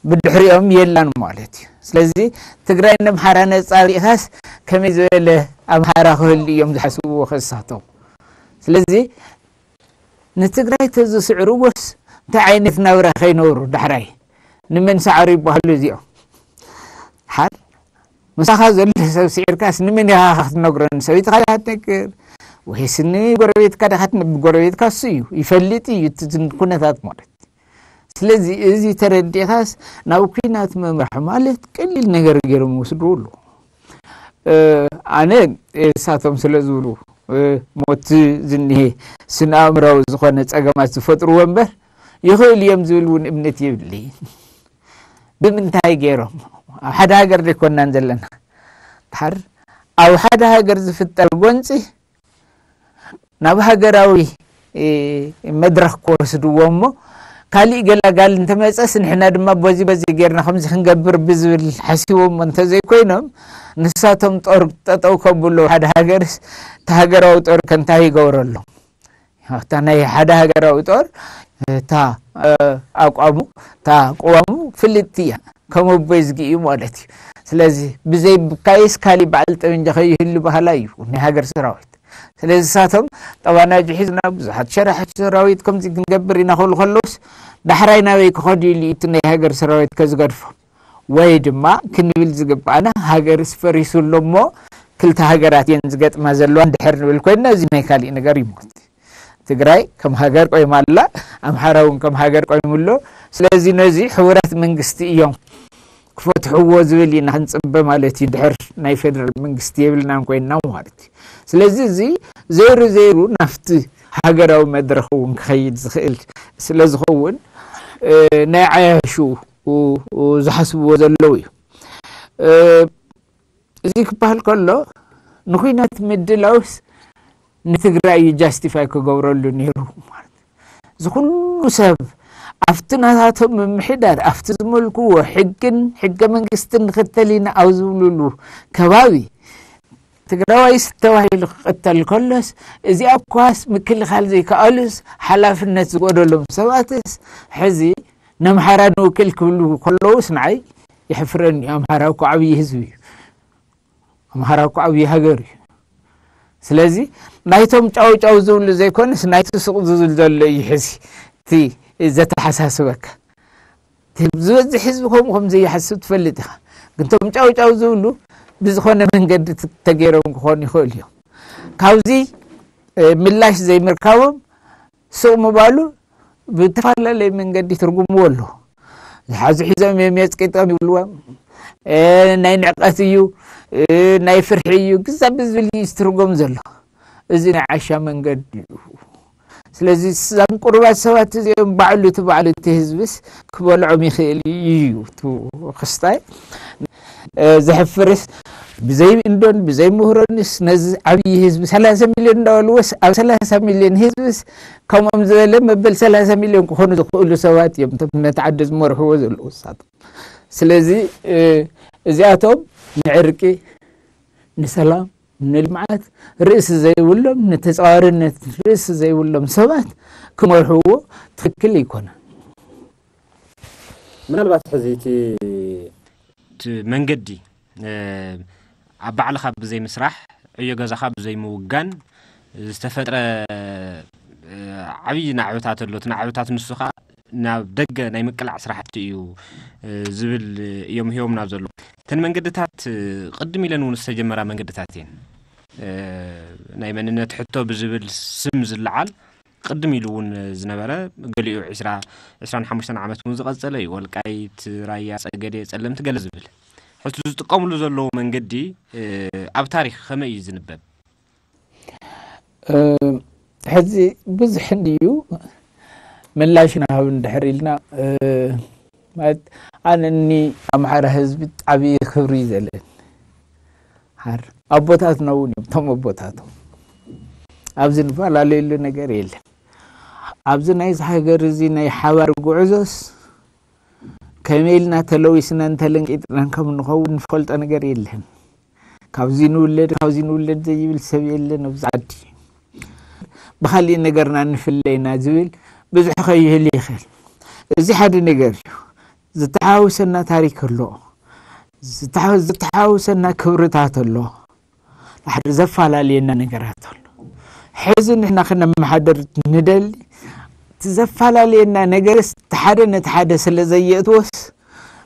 ብድሕሪኦም የላን ማለት እዩ። ስለዚ ትግራይ ንኣምሓራ ነፃ ኣውፂእኻስ ከመይ ዝበለ ኣምሓራ ክህሉ እዮም ዝሓስብዎ ከሳቶም። ስለዚ ንትግራይ ተዝስዕርዎስ እንታይ ዓይነት ናብራ ከይነብሩ ዳሕራይ? ንመን ሰዓሩ ይበሃሉ እዚኦም? ሓር ምሳኻ ዘሎ ሰብ ስዒርካስ ንመን ኢኻ ክትነግሮ? ንሰበይትኻ ዲኻ ትነግር? ወይስ ንጎረቤትካ ዲኻ ትነ-፣ ጎረቤትካ እሱ እዩ፣ ይፈልጥ እዩ እቲ ኩነታት ማለት። ስለዚ እዚ ተረዲእኻስ ናብ ኲናት ምምራሕ ማለት ቀሊል ነገር ገይሮም ይወስድዎ ኣለዉ። እ፣ ኣነ፣ እ፣ እሳቶም ስለ ዝብሉ፣ እ፣ ሞት ዝኒሄ ስነ ኣእምራዊ ዝኾነ ጸገማት ዝፈጥርዎ እምበር ይኽእል እዮም ዝብል እውን እምነት የብለይን። ብምንታይ ገይሮም? ኣብ ሓደ ሃገር ዘይኮናን ዘለና። ድሓር ኣብ ሓደ ሃገር ዝፍጠር ጎንጺ ናብ ሃገራዊ፣ እ፣ መድረኽ ክወስድዎ እሞ፣ ካሊእ ገላጋል እንተመጸስ ንሕና ድማ በዚ በዚ ጌርና ከምዚ ክንገብር ብዝብል ሓሲቦም እንተዘይኮይኖም፣ ንሳቶም ጦር ጠጠው ከብሎ ሓደ ሃገርስ፣ እቲ ሃገራዊ ጦር ከ እንታይ ይገብረሎም? እታ ናይ ሓደ ሃገራዊ ጦር፣ እታ፣ እ፣ ኣቋሙ፣ እታ ቅዋሙ ፍልጥቲ እያ። ከም ኣቦይ ዝጊ እዩ ማለት እዩ። ስለዚ ብዘይ ብካይስ ካሊእ በዓል ጠበንጃ ከይህሉ ባህላ እዩ ናይ ሃገር ሰራዊት። ስለዚ እሳቶም ጠባናጅ ሒዝና ብዙሓት ሸራሕቲ ሰራዊት ከምዚ ክንገብር ኢና ክብሉ ከለውስ ዳሕራይ ናበይ ክኸዱ ኢሉ እዩ እቲ ናይ ሃገር ሰራዊት ከዝገድፎም? ወይ ድማ ክንብል ዝግባኣና ሃገርስ ፈሪሱ ኣሎ እሞ ክልተ ሃገራት እየን ዝገጥማ ዘለዋ እንድሕር ንብል ኮይንና እዚ ናይ ካሊእ ነገር እዩ ማለት እዩ። ትግራይ ከም ሃገር ቆይማ ኣላ፣ ኣምሓራ እውን ከም ሃገር ቆይሙ ኣሎ። ስለዚ ነዚ ሕቡራት መንግስቲ እዮም ክፈትሕዎ ዝብል ኢና ክንጽበ ማለት እዩ። ድሕር ናይ ፌደራል መንግስቲ የብልናን ኮይንና ማለት እዩ። ስለዚ እዚ ዘይሩ ዘይሩ ናብቲ ሃገራዊ መድረኽ እውን ክኸይድ ዝኽእል ስለ ዝኸውን፣ እ፣ ናይ ዓያሹ ዝሓስብዎ ዘለዉ እዩ። እ፣ እዚ ክበሃል ከሎ ንኹናት ምድላውስ ንትግራይ እዩ ጃስቲፋይ ክገብረሉ ነይሩ ማለት። እዚ ኩሉ ሰብ ኣብቲ ናታቶም ምምሕዳር፣ ኣብቲ ዝመልክዎ ሕግን ሕገ መንግስትን ንኽተል ኢና ኣብ ዝብሉሉ ከባቢ ትግራዋይስ ተባሂሉ ክቕተል ከሎስ እዚኣ እኳስ ምክልኻል ዘይከኣሉስ ሓላፍነት ዝጎደሎም ሰባትስ ሕዚ ነምሓራ ንውክል ክብሉ ከለውስ ንዓይ የሕፍረኒ እዩ። ኣምሓራ እኮ ዓብዪ ህዝቢ እዩ። ኣምሓራ እኮ ዓብዪ ሃገር እዩ። ስለዚ ናይቶም ጫው ጫው ዝብሉ ዘይኮነስ ናይቲ ሱቕ ዝብል ዘሎ እዩ ሕዚ እቲ ዘተሓሳስበካ። እቲ ዝበዝሕ ህዝቢ ከምኡ ከም ዘይሓስብ ትፈልጥ ኢኻ። ግን እቶም ጫው ጫው ዝብሉ ብዝኾነ መንገዲ ት-፣ ተገይሮም ክኾኑ ይኽእሉ እዮም። ካብዚ፣ እ፣ ምላሽ ዘይምርካቦም ሱቕ ምባሉ ብተፈላለየ መንገዲ ትርጉምዎ ኣሎ። ዝሓዙ ሒዞም እዮም የጽቂጦም ይብልዎም። እ፣ ናይ ንዕቀት እዩ፣ እ፣ ናይ ፍርሒ እዩ፣ ግዛ ብዝብል እዩ ዝትርጎም ዘሎ። እዚ ናይ ዓሻ መንገዲ እዩ። ስለዚ እዛም ቁሩባት ሰባት እዚኦም ባዕሉ እቲ ባዕሉ እቲ ህዝብስ ክበልዖም ይኽእል እዩ እቲ ክስታይ። ዘሕፍርስ፣ ብዘይ እንዶን ብዘይ ምህሮንስ ነዚ ዓብዪ ህዝቢ ሰላሳ ሚልዮን እንዳበልዎስ፣ ኣብ ሰላሳ ሚልዮን ህዝብስ ከምኦም ዝበለ መበል ሰላሳ ሚልዮን ክኾኑ ዝኽእሉ ሰባት እዮም እቶም ነቲ ዓዲ ዝመርሕዎ ዘለዉ ንሳቶም። ስለዚ እዚኣቶም ንዕርቂ፣ ንሰላም፣ ንልምዓት ርእሲ ዘይብሎም፣ ንተፃዋርነት ርእሲ ዘይብሎም ሰባት ክመርሕዎ ትኽክል ኣይኮነን። ምናልባት ሕዚ እቲ እቲ መንገዲ ኣብ ባዕልኻ ብዘይ ምስራሕ፣ ዕዮ ገዛኻ ብዘይ ምውጋን ዝተፈጥረ ዓብዪ ናዕብታት ኣሎ። እቲ ናዕብታት ንሱ ኸዓ ናብ ደገ ናይ ምቅላዕ ስራሕቲ እዩ ዝብል እዮም ሂቦምና ዘሎ። እተን መንገድታት ቅድም ኢለን እውን ዝተጀመራ መንገድታት እየን። ናይ መንነት ሕቶ ብዝብል ስም ዝለዓል ቅድም ኢሉ እውን ዝነበረ፣ ገሊኡ ዕስራ ዕስራን ሓሙሽተን ዓመት እውን ዝቐጸለ እዩ። ወልቃይት፣ ራያ፣ ጸገዴ፣ ጸለምቲ ገለ ዝብል። ሕዚ ዝጥቀምሉ ዘለዉ መንገዲ ኣብ ታሪኽ ከመይ እዩ ዝንበብ? ሕዚ ብዙሕ እንድዩ ምላሽ ንሃብ እንድሕር ኢልና፣ ማለት ኣነ እኒ ኣምሓራ ህዝቢ ዓብዪ ክብሪ እዩ ዘለኒ። ሓር ኣቦታትና እውን እዮም፣ እቶም ኣቦታቶም ኣብዚ ንፈላለየሉ ነገር የለን። ኣብዚ ናይዚ ሃገር እዚ ናይ ሓባር ጉዕዞስ ከመይ ኢልና ተለዊስናን ተለንቂጥናን ከም ንኸውን ንፈልጦ ነገር የለን። ካብዚ ንውለድ ካብዚ ንውለድ ዘይብል ሰብ የለን ኣብዚ ዓዲ። ብኻሊእ ነገርና ንፍለይና ዝብል ብዙሕ ከይህል ይኽእል። እዚ ሓደ ነገር እዩ። ዝተሓዋወሰና ታሪክ ኣሎ። ዝተሓ- ዝተሓዋወሰና ክብርታት ኣሎ። ሓደ ዘፈላለየና ነገራት ኣሎ። ሕዚ ንሕና ክነመሓደር ንደሊ፣ እቲ ዘፈላለየና ነገርስ እቲ ሓደ ነቲ ሓደ ስለ ዘየእትዎስ፣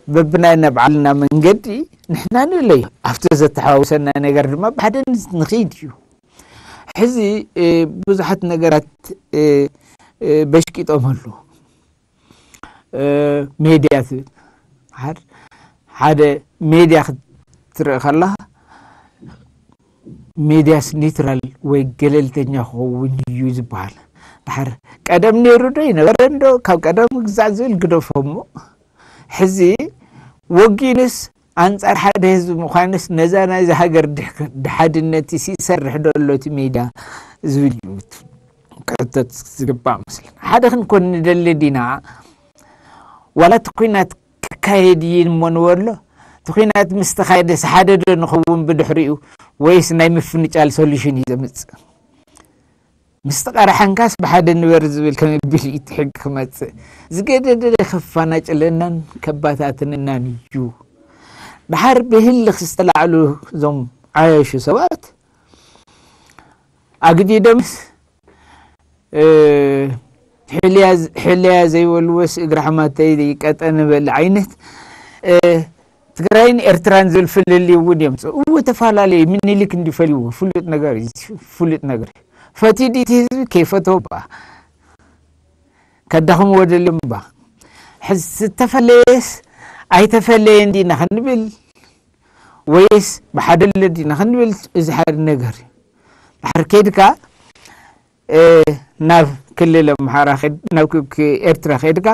በብናይ ናይ ባዕልና መንገዲ ንሕና ንለዮ። ኣብቲ ዘተሓዋውሰና ነገር ድማ ብሓደ ንስ- ንኸይድ እዩ። ሕዚ እ፣ ብዙሓት ነገራት እ፣ እ፣ በሽቂጦም ኣለዉ። ሜድያ ትብል። ሓደ ሜድያ ክትርኢ ከለኻ፣ ሜድያስ ኒውትራል ወይ ገለልተኛ ክኸውን እዩ ዝበሃል። ድሓር ቀደም ነይሩ ዶ ይነበረ እንዶ ካብ ቀደም ግዛዕ ዝብል ግደፎ እሞ፣ ሕዚ ወጊንስ ኣንጻር ሓደ ህዝቢ ምዃንስ ነዛ ናይዚ ሃገር ድሓድነት ይሰርሕ ዶ ኣሎ እቲ ሜድያ ዝብል እዩ። ክሕተት ዝግባእ መስለኒ። ሓደ ክንኮን ንደሊ ዲና? ዋላ እቲ ኩናት ክካየድ እዩ እሞ ንበሎ? እቲ ኩናት ምስ ተኻየደስ ሓደ ዶ ንኸውን ብድሕሪኡ? ወይስ ናይ ምፍንጫል ሶሉሽን እዩ ዘምፅእ? ምስ ተቐራሓንካስ ብሓደ ንበር ዝብል ከመቢል እዩ እቲ ሕጊ ክመፅእ? ዝገደደ ከፋናጭለናን ከባታትንናን እዩ። ድሓር ብህልኽ ዝተላዕሉ እዞም ዓያሹ ሰባት ኣግዲዶምስ ሕልያ ዘይበልዎስ እግሪ ሓማተይ ቀጠን በል ዓይነት ትግራይን ኤርትራን ዝብል ፍልልይ እውን እዮም። እዎ ተፈላለዩ ምኒልክ እንዲፈልይዎ ፍሉጥ ነገር እዩ። ፍሉጥ ነገር እዩ። ፈትዩ ድቲ ህዝቢ ከይፈተዎ ባ ከዳኽምዎ ደልዮም ባ ዝተፈለየስ ኣይተፈለየን ዲና ክንብል ወይስ ብሓደ ለዲና ክንብል እዚ ሓደ ነገር እዩ። ድሓር ከይድካ ናብ ክልል ኣምሓራ ናብ ኤርትራ ከይድካ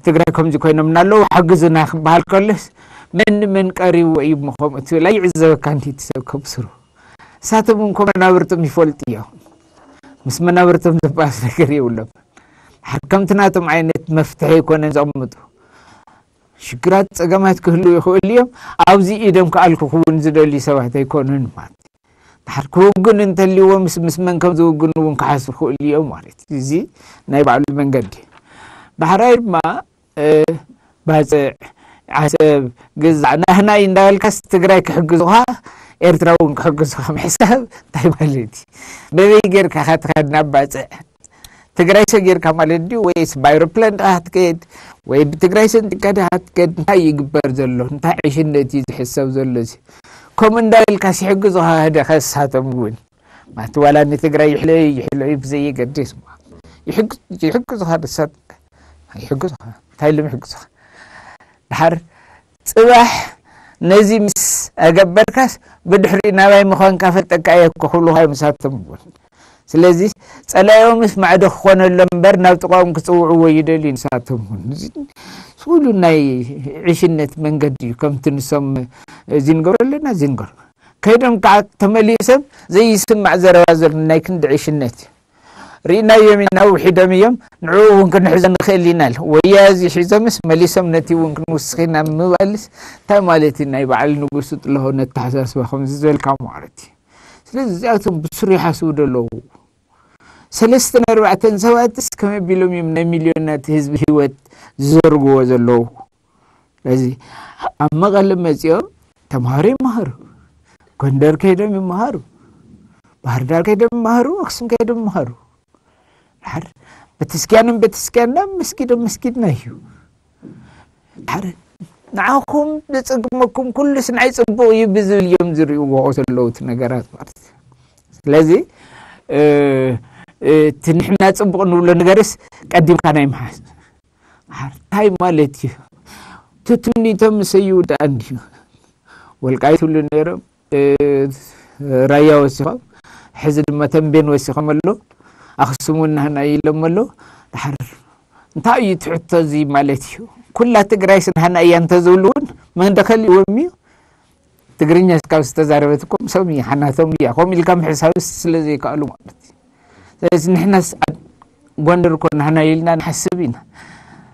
ትግራይ ከምዚ ኮይኖም እናለዉ ሓግዙና ክበሃል ከሎስ መን መን ቀሪቡ እዩ ምኸምኡ ትብል ኣይዕዘበካ እንዲ ትሰብ ከብስሩ እሳቶም እንኮ መናብርቶም ይፈልጡ እዮም። ምስ መናብርቶም ዘባስ ነገር የብሎም። ከምቲ ናቶም ዓይነት መፍትሒ ኣይኮነን ዘቕምጡ። ሽግራት ጸገማት ክህልዉ ይኽእሉ እዮም። ኣብዚ ኢዶም ክኣልኩ ክውን ዝደልዩ ሰባት ኣይኮኑን ማለት እዩ። ድሓር ክውግኑ እንተልይዎም ምስ ምስ መን ከም ዝውግኑ እውን ክሓስቡ ክኽእሉ እዮም ማለት እዩ። እዚ ናይ ባዕሉ መንገዲ እዩ። ዳሕራይ ድማ ባፅዕ ዓሰብ ግዛዕ ናህናይ እንዳበልካስ ትግራይ ክሕግዙኻ ኤርትራ እውን ክሕግዙኻ ምሕሳብ እንታይ ማለት እዩ? በበይ ጌርካ ኢኻ ትኸድ ናብ ባፅዕ? ትግራይ ሰጊርካ ማለት ድዩ ወይስ ብኣይሮፕላን ዲኻ ክትከድ ወይ ብትግራይ ሰንጢካ ዲኻ ክትከድ? እንታይ ይግበር ዘሎ? እንታይ ዕሽነት እዩ ዝሕሰብ ዘሎ? እዚ ከምኡ እንዳበልካስ ይሕግዙኻ ህደ ከሳቶም እውን ማለት ዋላ ንትግራይ ይሕለዩ ይሕለዩ ብዘየገድስ ይሕግዙኻ ደሳት ይሕግዙኻ እንታይ ኢሎም ይሕግዙኻ? ድሓር ፅባሕ ነዚ ምስ ኣገበርካስ ብድሕሪኡ ናባይ ምዃንካ ፈልጠካ እየ እኮ ክብሉኻ እዮም ንሳቶም እውን። ስለዚ ጸላዮምስ ማዕዶ ክኾነሎም እምበር ናብ ጥቓኦም ክጽውዕዎ ይደልዩ ንሳቶም እውን። እዚ ኩሉ ናይ ዕሽነት መንገዲ እዩ። ከምቲ ንሶም እዚ ንገብሮ ኣለና፣ እዚ ንገብሮ። ከይዶም ከዓ ተመሊሶም ዘይስማዕ ዘረባ ዘሎ ናይ ክንዲ ዕሽነት እዩ። ርኢናዮም ኢና፣ ውሒዶም እዮም። ንዕኡ እውን ክንሕዞ ንኽእል ኢና። ወያ እዚ ሒዞምስ መሊሶም ነቲ እውን ክንውስኽ ኢና ምባልስ እንታይ ማለት እዩ? ናይ በዓል ንጉሱ ጥላሁን ኣተሓሳስባ ከምዚ ዝበልካ ማለት እዩ። ስለዚ እዚኣቶም ብስሩ ይሓስቡ ዘለዉ ሰለስተን ኣርባዕተን ሰባትስ ከመይ ቢሎም እዮም ናይ ሚልዮናት ህዝቢ ህይወት ዝዘርግዎ ዘለዉ? ስለዚ ኣብ መቐለ መፂኦም ተምሃሮ ይመሃሩ፣ ጎንደር ከይዶም ይመሃሩ፣ ባህር ዳር ከይዶም ይመሃሩ፣ ኣክሱም ከይዶም ይመሃሩ። ድሓር ቤተስኪያንን ቤተስኪያንና፣ መስጊዶም መስጊድና እዩ። ድሓር ንዓኹም ዘጸግመኩም ኩሉስ ናይ ጽቡቕ እዩ ብዝብል እዮም ዝርእይዎ ዘለዉ እቲ ነገራት ማለት እዩ። ስለዚ እ፣ እ፣ እቲ ንሕና ጽቡቕ ንብሎ ነገርስ ቀዲምካ ናይ ምሓዝ። ድሓር እንታይ ማለት እዩ? ትትኒቶም ምሰይው ደኣ እንድዩ። ወልቃይት ይብሉ ነይሮም፣ እ፣ ራያ ወሲኾም፣ ሕዚ ድማ ተንቤን ወሲኾም ኣሎ። ኣኽሱም እውን ናህና ኢሎም ኣሎ። ድሓር እንታይ እዩ እቲ ሕቶ እዚ ማለት እዩ? ኩላ ትግራይስ ናህና እያ እንተዝብሉ እውን መን ደኸሊዎም እዩ? ትግርኛ እስካብ ዝተዛረበት እኮ ምሶም እያ፣ ሓናቶም እያ። ከምኡ ኢልካ ምሕሳብስ ስለ ዘይከኣሉ ማለት እዩ። ስለዚ ንሕናስ ኣብ ጎንደር እኮ ናህና ኢልና ንሓስብ ኢና።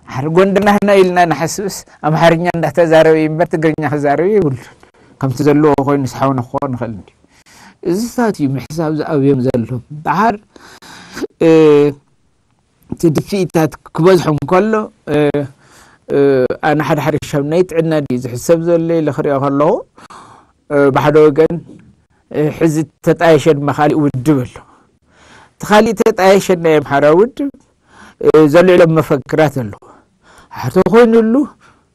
ድሓር ጎንደር ናህና ኢልና ንሓስብስ ኣምሓርኛ እንዳተዛረበ እዩ እምበር ትግርኛ ክዛረብ የብሉን። ከምቲ ዘለዎ ኮይኑ ስሓውና ክኾን ይኽእል እንድዩ። እዚታት እዩ ምሕሳብ ዝኣብዮም ዘሎ። ድሓር፣ እ፣ እቲ ድፍኢታት ክበዝሖም ከሎ፣ እ፣ እ፣ ኣነ ሓደ ሓደ ሻብ ናይ ጥዕና ድዩ ዝሕሰብ ዘሎ ኢለ ክሪኦ ከለኹ፣ እ፣ ብሓደ ወገን፣ እ፣ ሕዚ ተጣየሸ ድማ ካሊእ ውድብ ኣሎ። እቲ ካሊእ ተጣየሸ ናይ ኣምሓራ ውድብ፣ እ፣ ዘልዕሎም መፈክራት ኣለዎ። ሕቶ ኮይኑሉ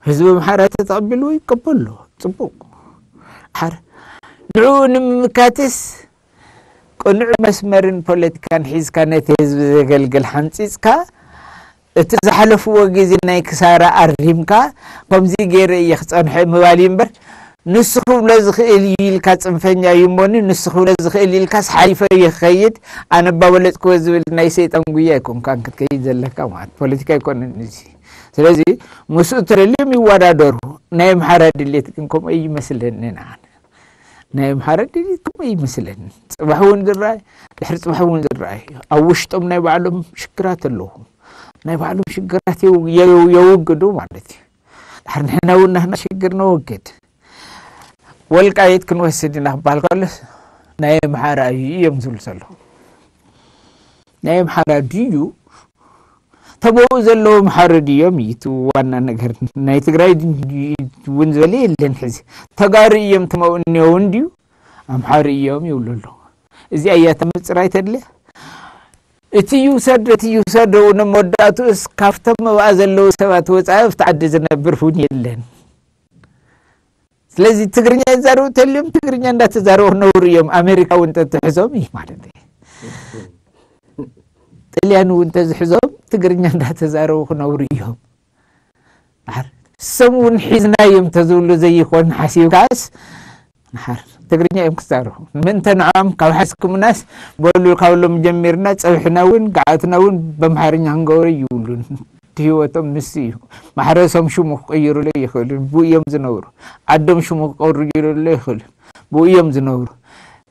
ህዝቢ ኣምሓራ ተተቐቢልዎ ይቀበሎ። ጽቡቕ። ድሓር ንዕኡ ንምምካትስ ቅኑዕ መስመርን ፖለቲካን ሒዝካ ነቲ ህዝቢ ዘገልግል ሓንጺጽካ፣ እቲ ዝሓለፍዎ ግዜ ናይ ክሳራ ኣሪምካ፣ ከምዚ ገይረ እየ ክጸንሖ ምባል እዩ እምበር፣ ንሱ ክብሎ ዝኽእል እዩ ኢልካ ጽንፈኛ እዩ እሞኒ፣ ንሱ ክብሎ ዝኽእል ኢልካስ ሓሊፈ እየ ክኸይድ፣ ኣነ ባበለጽክዎ ዝብል ናይ ሰይጣን ጉያ ኣይኮንካን ክትከይድ ዘለካ ማለት ፖለቲካ ኣይኮነን እዚ። ስለዚ ምስኡ ተደልዮም ይወዳደሩ። ናይ ኣምሓራ ድሌት ግን ከምኡ ኣይመስለንን ኣነ። ናይ ኣምሓራ ድሌት ከምኡ ኣይመስለንን። ጽባሕ እውን ዝረኣይ፣ ድሕሪ ጽባሕ እውን ዝረኣይ። ኣብ ውሽጦም ናይ ባዕሎም ሽግራት ኣለዎም። ናይ ባዕሎም ሽግራት የው-፣ የው-፣ የውግዱ ማለት እዩ። ድሕሪ ንሕና እውን ናህና ሽግር ነወግድ። ወልቃይት ክንወስድ ኢና ክበሃል ከሎስ ናይ ኣምሓራ እዩ እዮም ዝብሉ ዘለዉ። ናይ ኣምሓራ ድዩ? ተበኡ ዘለዉ ኣምሓሩ ድዮም እዩ እቲ ዋና ነገር። ናይ ትግራይ ድ-፣ እውን ዝበለ የለን ሕዚ። ተጋሩ እዮም ተመኡ እኒኦ እውን ድዩ? ኣምሓሩ እዮም ይብሉ ኣለዉ። እዚኣ እያ እታ ምፅራይ ተድልያ። እቲ ይውሰድ፣ እቲ ይውሰድ፣ እውን መወዳእትኡስ ካብቶም ኣብኣ ዘለዉ ሰባት ወፃኢ ኣብቲ ዓዲ ዝነብር እውን የለን። ስለዚ ትግርኛ ይዛረቡ ተልዮም ትግርኛ እንዳተዛረቡ ክነብሩ እዮም። ኣሜሪካ እውን ተትሕዞም እዩ ማለት እዩ። ጥልያን እውን ተዝሕዞም ትግርኛ እንዳተዛረቡ ክነብሩ እዮም። ድሓር እሶም እውን ሒዝናዮም ተዝብሉ ዘይኮን ሓሲብካስ፣ ድሓር ትግርኛ እዮም ክዛረቡ። ምእንተ ንዖም ካብ ሓስኩምናስ በሉ፣ ካብ ሎም ጀሚርና ጸብሕና እውን ገዓትና እውን በምሓርኛ ክንገብሮ ይብሉን። እቲ ህይወቶም ንሱ እዩ። ማሕረሶም ሽሙ ክቕይሩሉ ይኽእሉ፣ ብኡ እዮም ዝነብሩ። ዓዶም ሽሙ ክቕይሩሉ ይኽእሉ፣ ብኡ እዮም ዝነብሩ።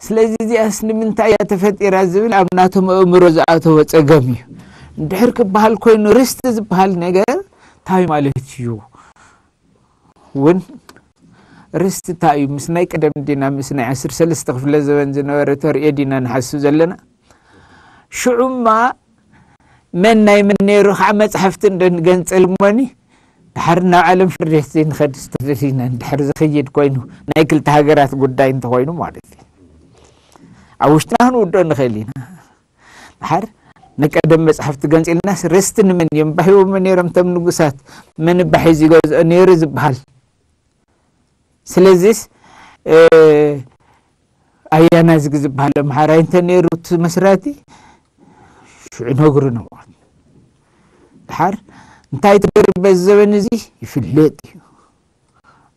ስለዚ እዚኣስ ንምንታይ እያ ተፈጢራ ዝብል ኣብ ናቶም ኣእምሮ ዝኣተወ ጸገም እዩ። እንድሕር ክበሃል ኮይኑ ርስቲ ዝበሃል ነገር እንታይ ማለት እዩ? እውን ርስቲ እንታይ እዩ? ምስ ናይ ቀደም ዲና ምስ ናይ ዓሰርተ ሰለስተ ክፍለ ዘበን ዝነበረ ተርእዮ ዲና ንሓስብ ዘለና? ሽዑማ መን ናይ መን ነይሩ ከዓ መፅሓፍቲ እንዶ ንገንፀል እሞኒ፣ ድሓር ናብ ዓለም ፍርዲ ዘይንኸድ ዝተደሊና እንድሕር ዝኸይድ ኮይኑ ናይ ክልተ ሃገራት ጉዳይ እንተኾይኑ ማለት እዩ። ኣብ ውሽጥና ክንውድኦ ንኽእል ኢና። ድሓር ንቀደም መፅሓፍቲ ገንፂልናስ ርስቲ ንመን እዮም ባሂቦሞ ነይሮም? እቶም ንጉሳት መን ባሒ ዝገዝኦ ነይሩ ዝበሃል? ስለዚስ እ፣ ኣያና ዝግ ዝበሃል ኣምሓራይ እንተ ነይሩ እቲ መስራቲ ሽዑ ነግሩ ነዋ። ድሓር እንታይ ትገርም በዚ ዘበን እዚ ይፍለጥ እዩ።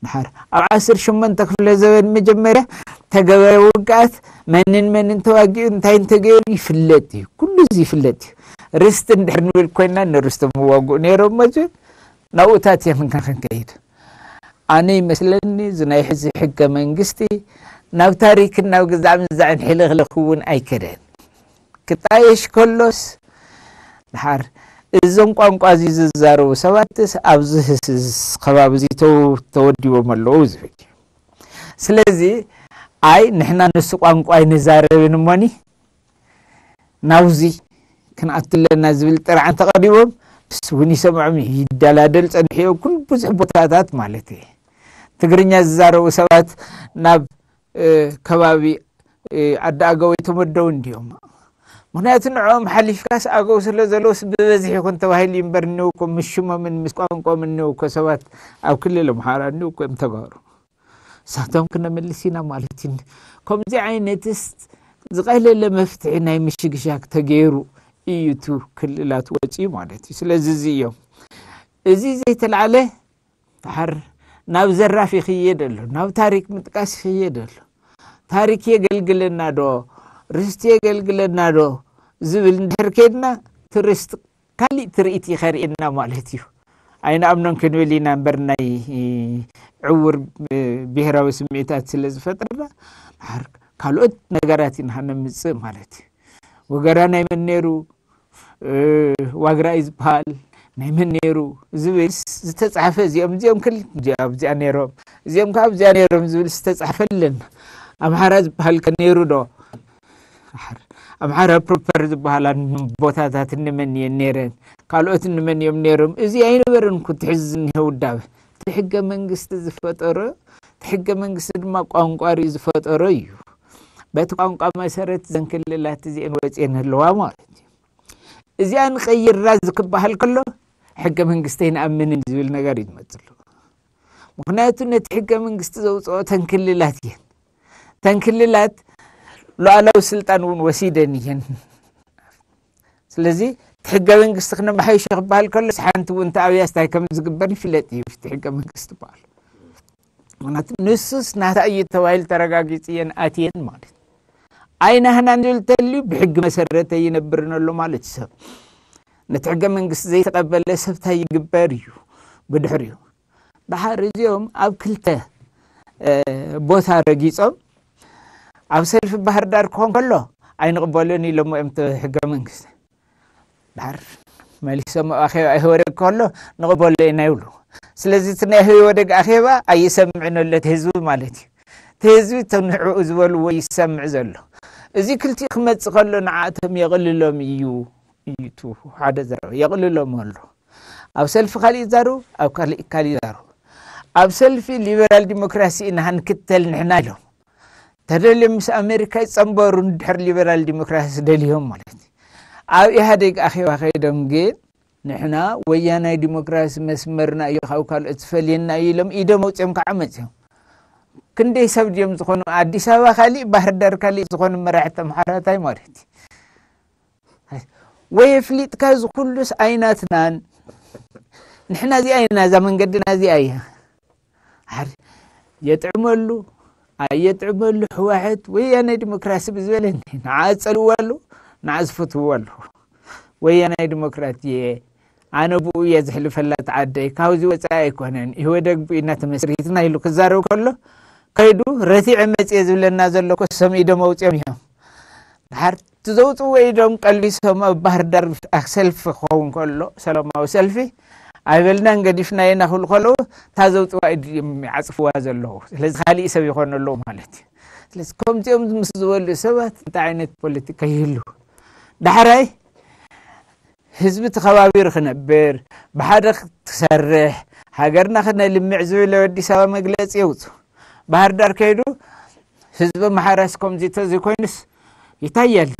ድሓር ኣብ ዓሰርተ ሸሞንተ ክፍለ ዘበን መጀመርያ እቲ ዝተገበረ ውግኣት መንን መንን ተዋጊኡ እንታይ እንተገይሩ ይፍለጥ እዩ። ኩሉ እዚ ይፍለጥ እዩ። ርስቲ እንድሕር ንብል ኮይና ንርስቶም ይዋግኡ ነይሮም መፅኡ ናብኡታት እዮም ክንከይድ። ኣነ ይመስለኒ እዚ ናይ ሕዚ ሕገ መንግስቲ ናብ ታሪክን ናብ ግዛዕ ምዛዕን ሕልኽልኽ እውን ኣይከደን። ክጣየሽ ከሎስ ድሓር እዞም ቋንቋ እዚ ዝዛረቡ ሰባትስ ኣብዚ ህስስ ከባቢ እዚ ተው- ተወዲቦም ኣለዉ ዝብል እዩ። ስለዚ ኣይ ንሕና ንሱ ቋንቋ ኣይንዛረብን እሞኒ ናብዚ ክንኣቱ ኣለና ዝብል ጥርዓን ተቐዲቦም ብስ እውን ይሰምዖም ይደላደል ጸኒሑ ኩል ብዙሕ ቦታታት ማለት እዩ። ትግርኛ ዝዛረቡ ሰባት ናብ ከባቢ ዓዲ ኣገው ኣይተመደውን ድዮም? ምክንያቱ ንዕኦም ሓሊፍካስ ኣገው ስለ ዘለውስ ብበዝሒ ይኹን ተባሂሉ እዩ እምበር እኒው እኮ ምስ ሽሞምን ምስ ቋንቋም እኒው እኮ ሰባት ኣብ ክልል ኣምሓራ እኒው እኮ እዮም ተጋሩ። እሳቶም ክነመልስ ኢና ማለት እዩ። ከምዚ ዓይነትስ ዝቐለለ መፍትሒ ናይ ምሽግሻግ ተገይሩ እዩ እቲ ክልላት ወፂኡ ማለት እዩ። ስለዚ እዚ እዮም እዚ ዘይተላዕለ ድሓር ናብ ዘራፍ ይኽየድ ኣሎ፣ ናብ ታሪክ ምጥቃስ ይኽየድ ኣሎ። ታሪክ የገልግለና ዶ ርስቲ የገልግለና ዶ ዝብል እንድሕር ከይድና ትርስቲ ካሊእ ትርኢት ይኸርእየና ማለት እዩ። ኣይንኣምኖን ክንብል ኢና እምበር ናይ ዕውር ብሄራዊ ስምዒታት ስለ ዝፈጥረና ድሓር ካልኦት ነገራት ኢና ነምፅእ ማለት እዩ። ወገራ ናይ መን ነይሩ? ዋግራ እዩ ዝበሃል ናይ መን ነይሩ ዝብል ዝተፃሕፈ እዚኦም እዚኦም ክል እዚኣ ነይሮም እዚኦም ከዓ ኣብዚኣ ነይሮም ዝብል ዝተፃሕፈ ኣለና። ኣምሓራ ዝበሃል ከ ነይሩ ዶ? ኣምሓራ ፕሮፐር ዝበሃላ ቦታታት እንመን እየን ነይረን? ካልኦት እንመን እዮም ነይሮም? እዚ ኣይነበረን እኮ ትሕዚ ዝኒሀ ውዳበ። እቲ ሕገ መንግስቲ ዝፈጠሮ እቲ ሕገ መንግስቲ ድማ ቋንቋ ርእዩ ዝፈጠሮ እዩ። በቲ ቋንቋ መሰረት ዘንክልላት እዚአን ወፅየን ኣለዋ ማለት እዩ። እዚኣ ንቐይራ ዝክበሃል ከሎ ሕገ መንግስቲ ኣይንኣምንን ዝብል ነገር እዩ ዝመፅሉ። ምክንያቱ ነቲ ሕገ መንግስቲ ዘውፅኦ ተንክልላት እየን። ተንክልላት ሉዓላዊ ስልጣን እውን ወሲደን እየን። ስለዚ እቲ ሕገ መንግስቲ ክነመሓይሾ ክበሃል ከሎ ሓንቲ እውን ተኣብያስ እንታይ ከም ዝግበር ይፍለጥ እዩ እቲ ሕገ መንግስቲ በሃል። ምክንያቱ ንሱስ ናታ እዩ ተባሂሉ ተረጋጊፅ እየን ኣትየን ማለት እዩ። ኣይናህናን ዝብል ተልዩ ብሕጊ መሰረት ኣይነብርን ኣሎ ማለት እዩ። ሰብ ነቲ ሕገ መንግስቲ ዘይተቐበለ ሰብ እንታይ ይግበር እዩ ብድሕሪኡ? ድሓር እዚኦም ኣብ ክልተ ቦታ ረጊፆም ኣብ ሰልፊ ባህር ዳር ክኾን ከሎ ኣይንቕበሎን ኢሎሞ እዮም ሕገ መንግስቲ ድሓር መሊሶም ኣብ ኣኼባ ኢህወደግ ከሎ ንቕበሎ ኢና ይብሉ። ስለዚ እቲ ናይ ኢህወደግ ኣኼባ ኣይሰምዕን ኣሎ እቲ ህዝቢ ማለት እዩ። እቲ ህዝቢ እቶም ንዕኡ ዝበልዎ ይሰምዕ ዘሎ። እዚ ክልቲኡ ክመፅእ ከሎ ንዓቶም የቕልሎም እዩ እዩ እቲ ሓደ ዘረባ የቕልሎም ኣሎ። ኣብ ሰልፊ ካሊእ ይዛረቡ ኣብ ካሊእ ካሊእ ይዛረቡ። ኣብ ሰልፊ ሊበራል ዲሞክራሲ ኢና ክንክተል ንሕና ኢሎም ተደልዮም ምስ ኣሜሪካ ይፀንበሩ እንድሕር ሊበራል ዲሞክራሲ ደልዮም ማለት እዩ። ኣብ ኢህኣዴግ ኣኼባ ከይዶም ግን ንሕና ወያናይ ዲሞክራሲ መስመርና እዩ ካብ ካልኦት ዝፈልየና እዩ ኢሎም ኢዶም ኣውፅኦም ከዓ መፅዮም። ክንደይ ሰብ ድዮም ዝኾኑ ኣዲስ ኣበባ ካሊእ ባህር ዳር ካሊእ ዝኾኑ መራሕቲ ኣምሓራታይ ማለት እዩ። ወይ ኣፍሊጥካ እዚ ኩሉስ ኣይናትናን ንሕና እዚኣ ኢና እዛ መንገድና እዚኣ እያ። ሓር የጥዕመሉ ኣየጥዕመሉ ሕዋሕት ወያናይ ዲሞክራሲ ብዝበለኒ ንዓ ዝፀልእዎ ኣለዉ ንዓ ዝፈትውዎ ኣለዉ። ወያናይ ዲሞክራት እየ ኣነ ብኡ እየ ዝሕልፈላ እቲ ዓደይ ካብዚ ወፃኢ ኣይኮነን ኢህወደግ ብኡ ኢና ተመስሪትና ኢሉ ክዛረብ ከሎ ከይዱ ረቲዐ መፅየ ዝብለና ዘሎ ኮ ሰም ኢዶም ኣውፅኦም እዮም። ድሓር እቲ ዘውፅዎ ኢዶም ቀሊሶም ኣብ ባህር ዳር ሰልፊ ክኸውን ከሎ ሰላማዊ ሰልፊ ኣይበልናን ገዲፍና ኢና ክብሉ ከለዉ እታ ዘውፅዋ ኢድ እዮም ይዓፅፍዋ ዘለዉ። ስለዚ ካሊእ ሰብ ይኾኑ ኣለዉ ማለት እዩ። ስለዚ ከምዚኦም ምስ ዝበሉ ሰባት እንታይ ዓይነት ፖለቲካ ይህሉ? ዳሕራይ ህዝቢ ተኸባቢሩ ክነብር ብሓደ ክትሰርሕ ሃገርና ክነልምዕ ዝብል ኣዲስ ኣበባ መግለፂ የውፁ። ባህር ዳር ከይዱ ህዝቢ ኣምሓራስ ከምዚ ተዘይኮይኑስ ይታያል።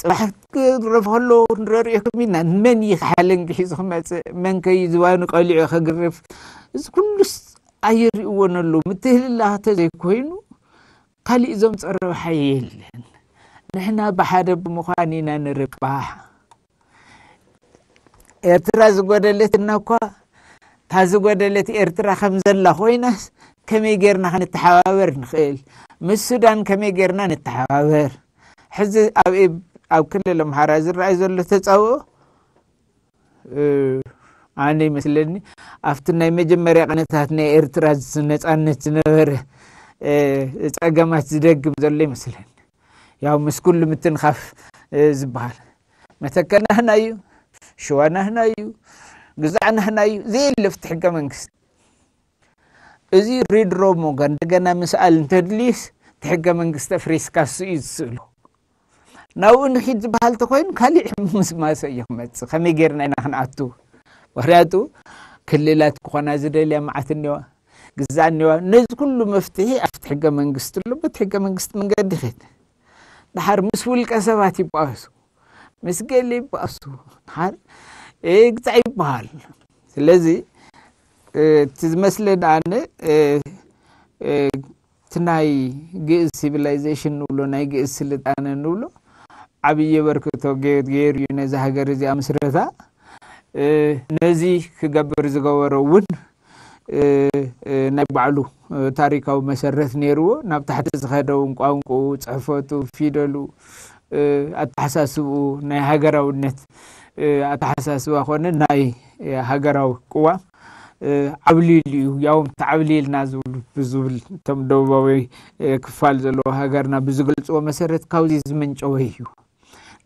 ፅባሕ ክግረፍ ከሎ ንረርእየኩም ኢና። መን እዩ ሓለንጊ ሒዙ ክመፅእ? መን ከዩ ዝባኑ ቀሊዑ ክግርፍ? እዚ ኩሉስ ኣይርእዎን ኣለዉ። ምትህልላኽ ተዘይኮይኑ ካሊእ እዞም ፀረብሓ የለን። ንሕና ብሓደ ብምዃን ኢና ንርባሕ። ኤርትራ ዝጎደለትና እኳ እታ ዝጎደለት ኤርትራ ከም ዘላ ኮይናስ ከመይ ጌርና ክንተሓባበር ንኽእል? ምስ ሱዳን ከመይ ጌርና ንተሓባበር? ሕዚ ኣብ ኣብ ክልል ኣምሓራ ዝረኣይ ዘሎ ተጻብኦ ኣነ ይመስለኒ ኣብቲ ናይ መጀመርያ ቅነታት ናይ ኤርትራ ነጻነት ዝነበረ ጸገማት ዝደግም ዘሎ ይመስለኒ። ያው ምስ ኩሉ ምትንኻፍ ዝበሃል መተከል ናህና እዩ፣ ሽዋ ናህና እዩ፣ ግዛዕ ናህና እዩ ዘየለ ኣብቲ ሕገ መንግስቲ። እዚ ሪድሮ ሞጋ እንደገና ምስኣል እንተድልዩስ እቲ ሕገ መንግስቲ ኣፍሪስካ እሱ እዩ ዝስእሎ። ናብኡ ንኺድ ዝበሃል ተኮይኑ ካሊእ ምስማሰ እዩ ክመፅእ። ከመይ ጌርና ኢና ክንኣቱ? ምክንያቱ ክልላት ክኾና ዝደልያ መዓት እኒዋ፣ ግዛእ እኒዋ። ነዚ ኩሉ መፍትሒ ኣብቲ ሕገ መንግስቲ ኣሎ። በቲ ሕገ መንግስቲ መንገዲ ኸድ ድሓር ምስ ውልቀ ሰባት ይበኣሱ፣ ምስ ገለ ይበኣሱ፣ ድሓር ግዛእ ይበሃል። ስለዚ እቲ ዝመስለኒ ኣነ እቲ ናይ ግእዝ ሲቪላይዜሽን ንብሎ ናይ ግእዝ ስልጣነ ንብሎ ዓብዪ በርክቶ ገይሩ እዩ ነዚ ሃገር እዚኣ ምስረታ። ነዚ ክገብር ዝገበሮ እውን ናይ ባዕሉ ታሪካዊ መሰረት ነይርዎ። ናብ ታሕቲ ዝኸደ እውን ቋንቋኡ፣ ፅሕፈቱ፣ ፊደሉ፣ ኣተሓሳስብኡ፣ ናይ ሃገራውነት ኣተሓሳስባ ኮነ ናይ ሃገራዊ ቅዋም ዓብሊሉ እዩ። ያውም ተዓብሊልና ዝብሉ ብዝብል እቶም ደቡባዊ ክፋል ዘለዎ ሃገርና ብዝገልፅዎ መሰረት ካብዚ ዝመንጨወ እዩ።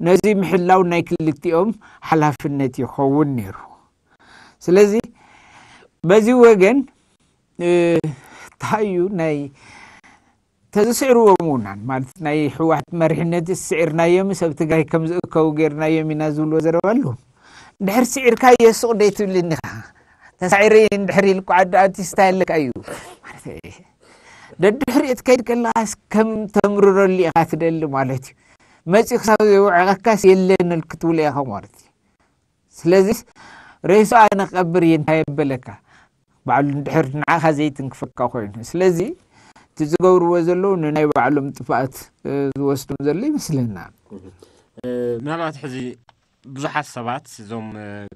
ነዚ ምሕላው ናይ ክልቲኦም ሓላፍነት ይኸውን ነይሩ። ስለዚ በዚ ወገን እንታይ እዩ ናይ ተዝስዕርዎም ውናን ማለት ናይ ህወሓት መሪሕነት ስዒርናዮም ሰብ ትግራይ ከም ዝእከቡ ጌርናዮም ኢና ዝብልዎ ዘረባ ኣለዎም። ድሕር ስዒርካዮ ሱቕ ደይ ትብልኒ ኢኻ። ተሳዒረ እንድሕር ኢልኩ ዓዲ ኣርቲስታ ኣለካ እዩ። ደድሕሪኡ ትከይድ ከለኻስ ከም ተምርረሉ ኢኻ ትደሊ ማለት እዩ። መፂኡ ክሳብ ዘውዕቐካስ የለን ክትብሎ ኢኻ ማለት እዩ። ስለዚስ ሬሱ ኣነ ክቐብር እየ እንታይ የበለካ? ባዕሉ እንድሕር ንዓኻ ዘይትንክፈካ ኮይኑ። ስለዚ እቲ ዝገብርዎ ዘለዉ ንናይ ባዕሎም ጥፍኣት ዝወስዶም ዘሎ ይመስለና። ምናልባት ሕዚ ብዙሓት ሰባት እዞም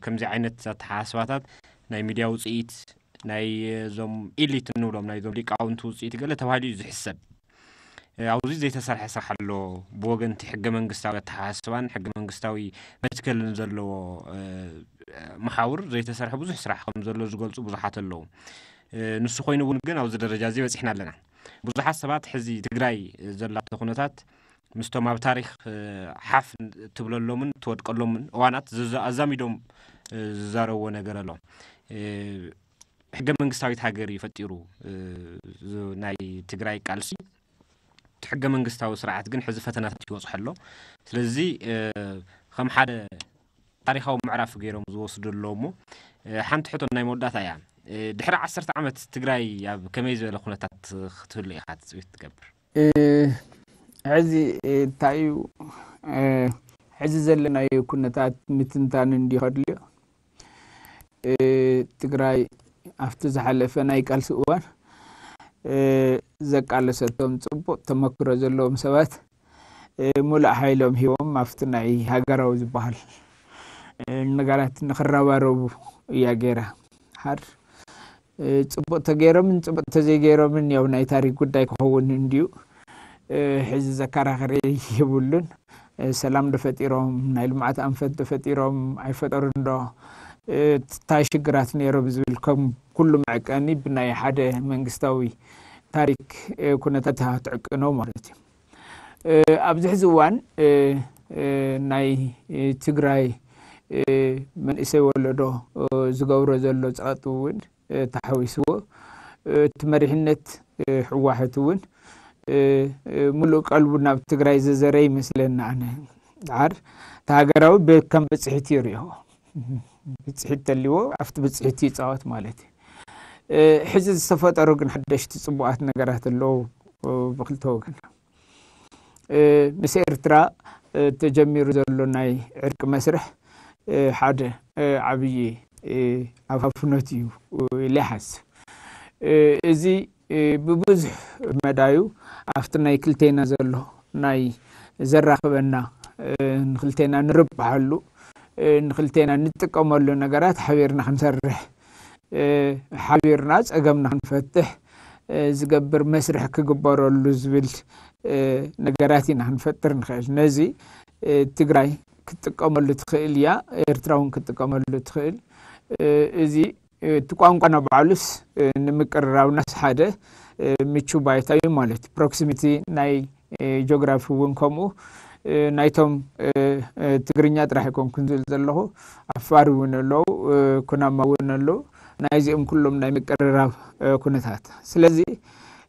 ከምዚ ዓይነት ኣተሓሳስባታት ናይ ሚድያ ውፅኢት ናይ እዞም ኢሊት እንብሎም ናይ ዞም ሊቃውንቲ ውፅኢት ገለ ተባሂሉ እዩ ዝሕሰብ። ኣብዚ ዘይተሰርሐ ስራሕ ኣሎ። ብወገንቲ ሕገ መንግስታዊ ኣተሓሳስባን ሕገ መንግስታዊ መትከልን ዘለዎ መሓውር ዘይተሰርሐ ብዙሕ ስራሕ ከም ዘሎ ዝገልፁ ብዙሓት ኣለዉ። ንሱ ኮይኑ እውን ግን ኣብዚ ደረጃ እዚ በፂሕና ኣለና። ብዙሓት ሰባት ሕዚ ትግራይ ዘላቶ ኩነታት ምስቶም ኣብ ታሪክ ሓፍ ትብለሎምን ትወድቀሎምን እዋናት ኣዛሚዶም ዝዛረብዎ ነገር ኣሎ። ሕገ መንግስታዊት ሃገር እዩ ፈጢሩ ናይ ትግራይ ቃልሲ። እቲ ሕገ መንግስታዊ ስርዓት ግን ሕዚ ፈተናታት ይበፅሖ ኣሎ። ስለዚ ከም ሓደ ታሪካዊ ምዕራፍ ገይሮም ዝወስዱ ኣለዉ። እሞ ሓንቲ ሕቶ ናይ መወዳእታ እያ። ድሕሪ ዓሰርተ ዓመት ትግራይ ኣብ ከመይ ዝበለ ኩነታት ክትህሉ ኢኻ ትፅቢት ትገብር? ሕዚ እንታይ እዩ ሕዚ ዘለናዮ ኩነታት ምትንታን እንዲኸድልዮ ትግራይ ኣብቲ ዝሓለፈ ናይ ቃልሲ እዋን ዘቃለሰቶም ፅቡቅ ተመክሮ ዘለዎም ሰባት ሙሉእ ሓይሎም ሂቦም ኣብቲ ናይ ሃገራዊ ዝበሃል ነገራት ንክረባረቡ እያ ገይራ። ሓር ፅቡቅ ተገይሮምን ፅቡቅ ተዘይገይሮምን ያው ናይ ታሪክ ጉዳይ ክኸውን እንድዩ። ሕዚ ዘከራኸሪ የብሉን። ሰላም ዶ ፈጢሮም፣ ናይ ልምዓት ኣንፈት ዶ ፈጢሮም፣ ኣይፈጠሩን ዶ፣ እንታይ ሽግራት ነይሮም ዝብል ከም ኩሉ መዐቀኒ ብናይ ሓደ መንግስታዊ ታሪክ ኩነታት ትዕቅኖ ማለት እዩ። ኣብዚ ሕዚ እዋን ናይ ትግራይ መንእሰይ ወለዶ ዝገብሮ ዘሎ ፀቕጢ እውን ተሓዊስዎ፣ እቲ መሪሕነት ህወሓት እውን ሙሉእ ቀልቡ ናብ ትግራይ ዘዘረ ይመስለኒ። ኣነ ዳር እቲ ሃገራዊ ከም ብፅሒት ይሪኦ። ብፅሒት ተልዎ ኣብቲ ብፅሒት ይፃወት ማለት እዩ። ሕዚ ዝተፈጠሩ ግን ሓደሽቲ ፅቡቃት ነገራት ኣለዉ። ብክልተ ወገን ምስ ኤርትራ ተጀሚሩ ዘሎ ናይ ዕርቂ መስርሕ ሓደ ዓብዪ ኣፋፍኖት እዩ ኢለ ይሓስብ። እዚ ብብዙሕ መዳዩ ኣብቲ ናይ ክልቴና ዘሎ ናይ ዘራኽበና፣ ንክልቴና ንርብሓሉ፣ ንክልቴና ንጥቀመሉ ነገራት ሓቢርና ክንሰርሕ፣ ሓቢርና ፀገምና ክንፈትሕ ዝገብር መስርሕ ክግበረሉ ዝብል ነገራት ኢና ክንፈጥር ንኽእል። ነዚ ትግራይ ክትጥቀመሉ ትኽእል እያ፣ ኤርትራ እውን ክትጥቀመሉ ትኽእል። እዚ እቲ ቋንቋ ናብ ባዕሉስ ንምቅርራብናስ ሓደ ምቹ ባይታ እዩ ማለት እዩ። ፕሮክሲሚቲ ናይ ጂኦግራፊ እውን ከምኡ። ናይቶም ትግርኛ ጥራሕ ኣይኮንኩን ዝብል ዘለኹ፣ ዓፋር እውን ኣለዉ፣ ኩናማ እውን ኣለዉ። ናይዚኦም ኩሎም ናይ ምቅርራብ ኩነታት። ስለዚ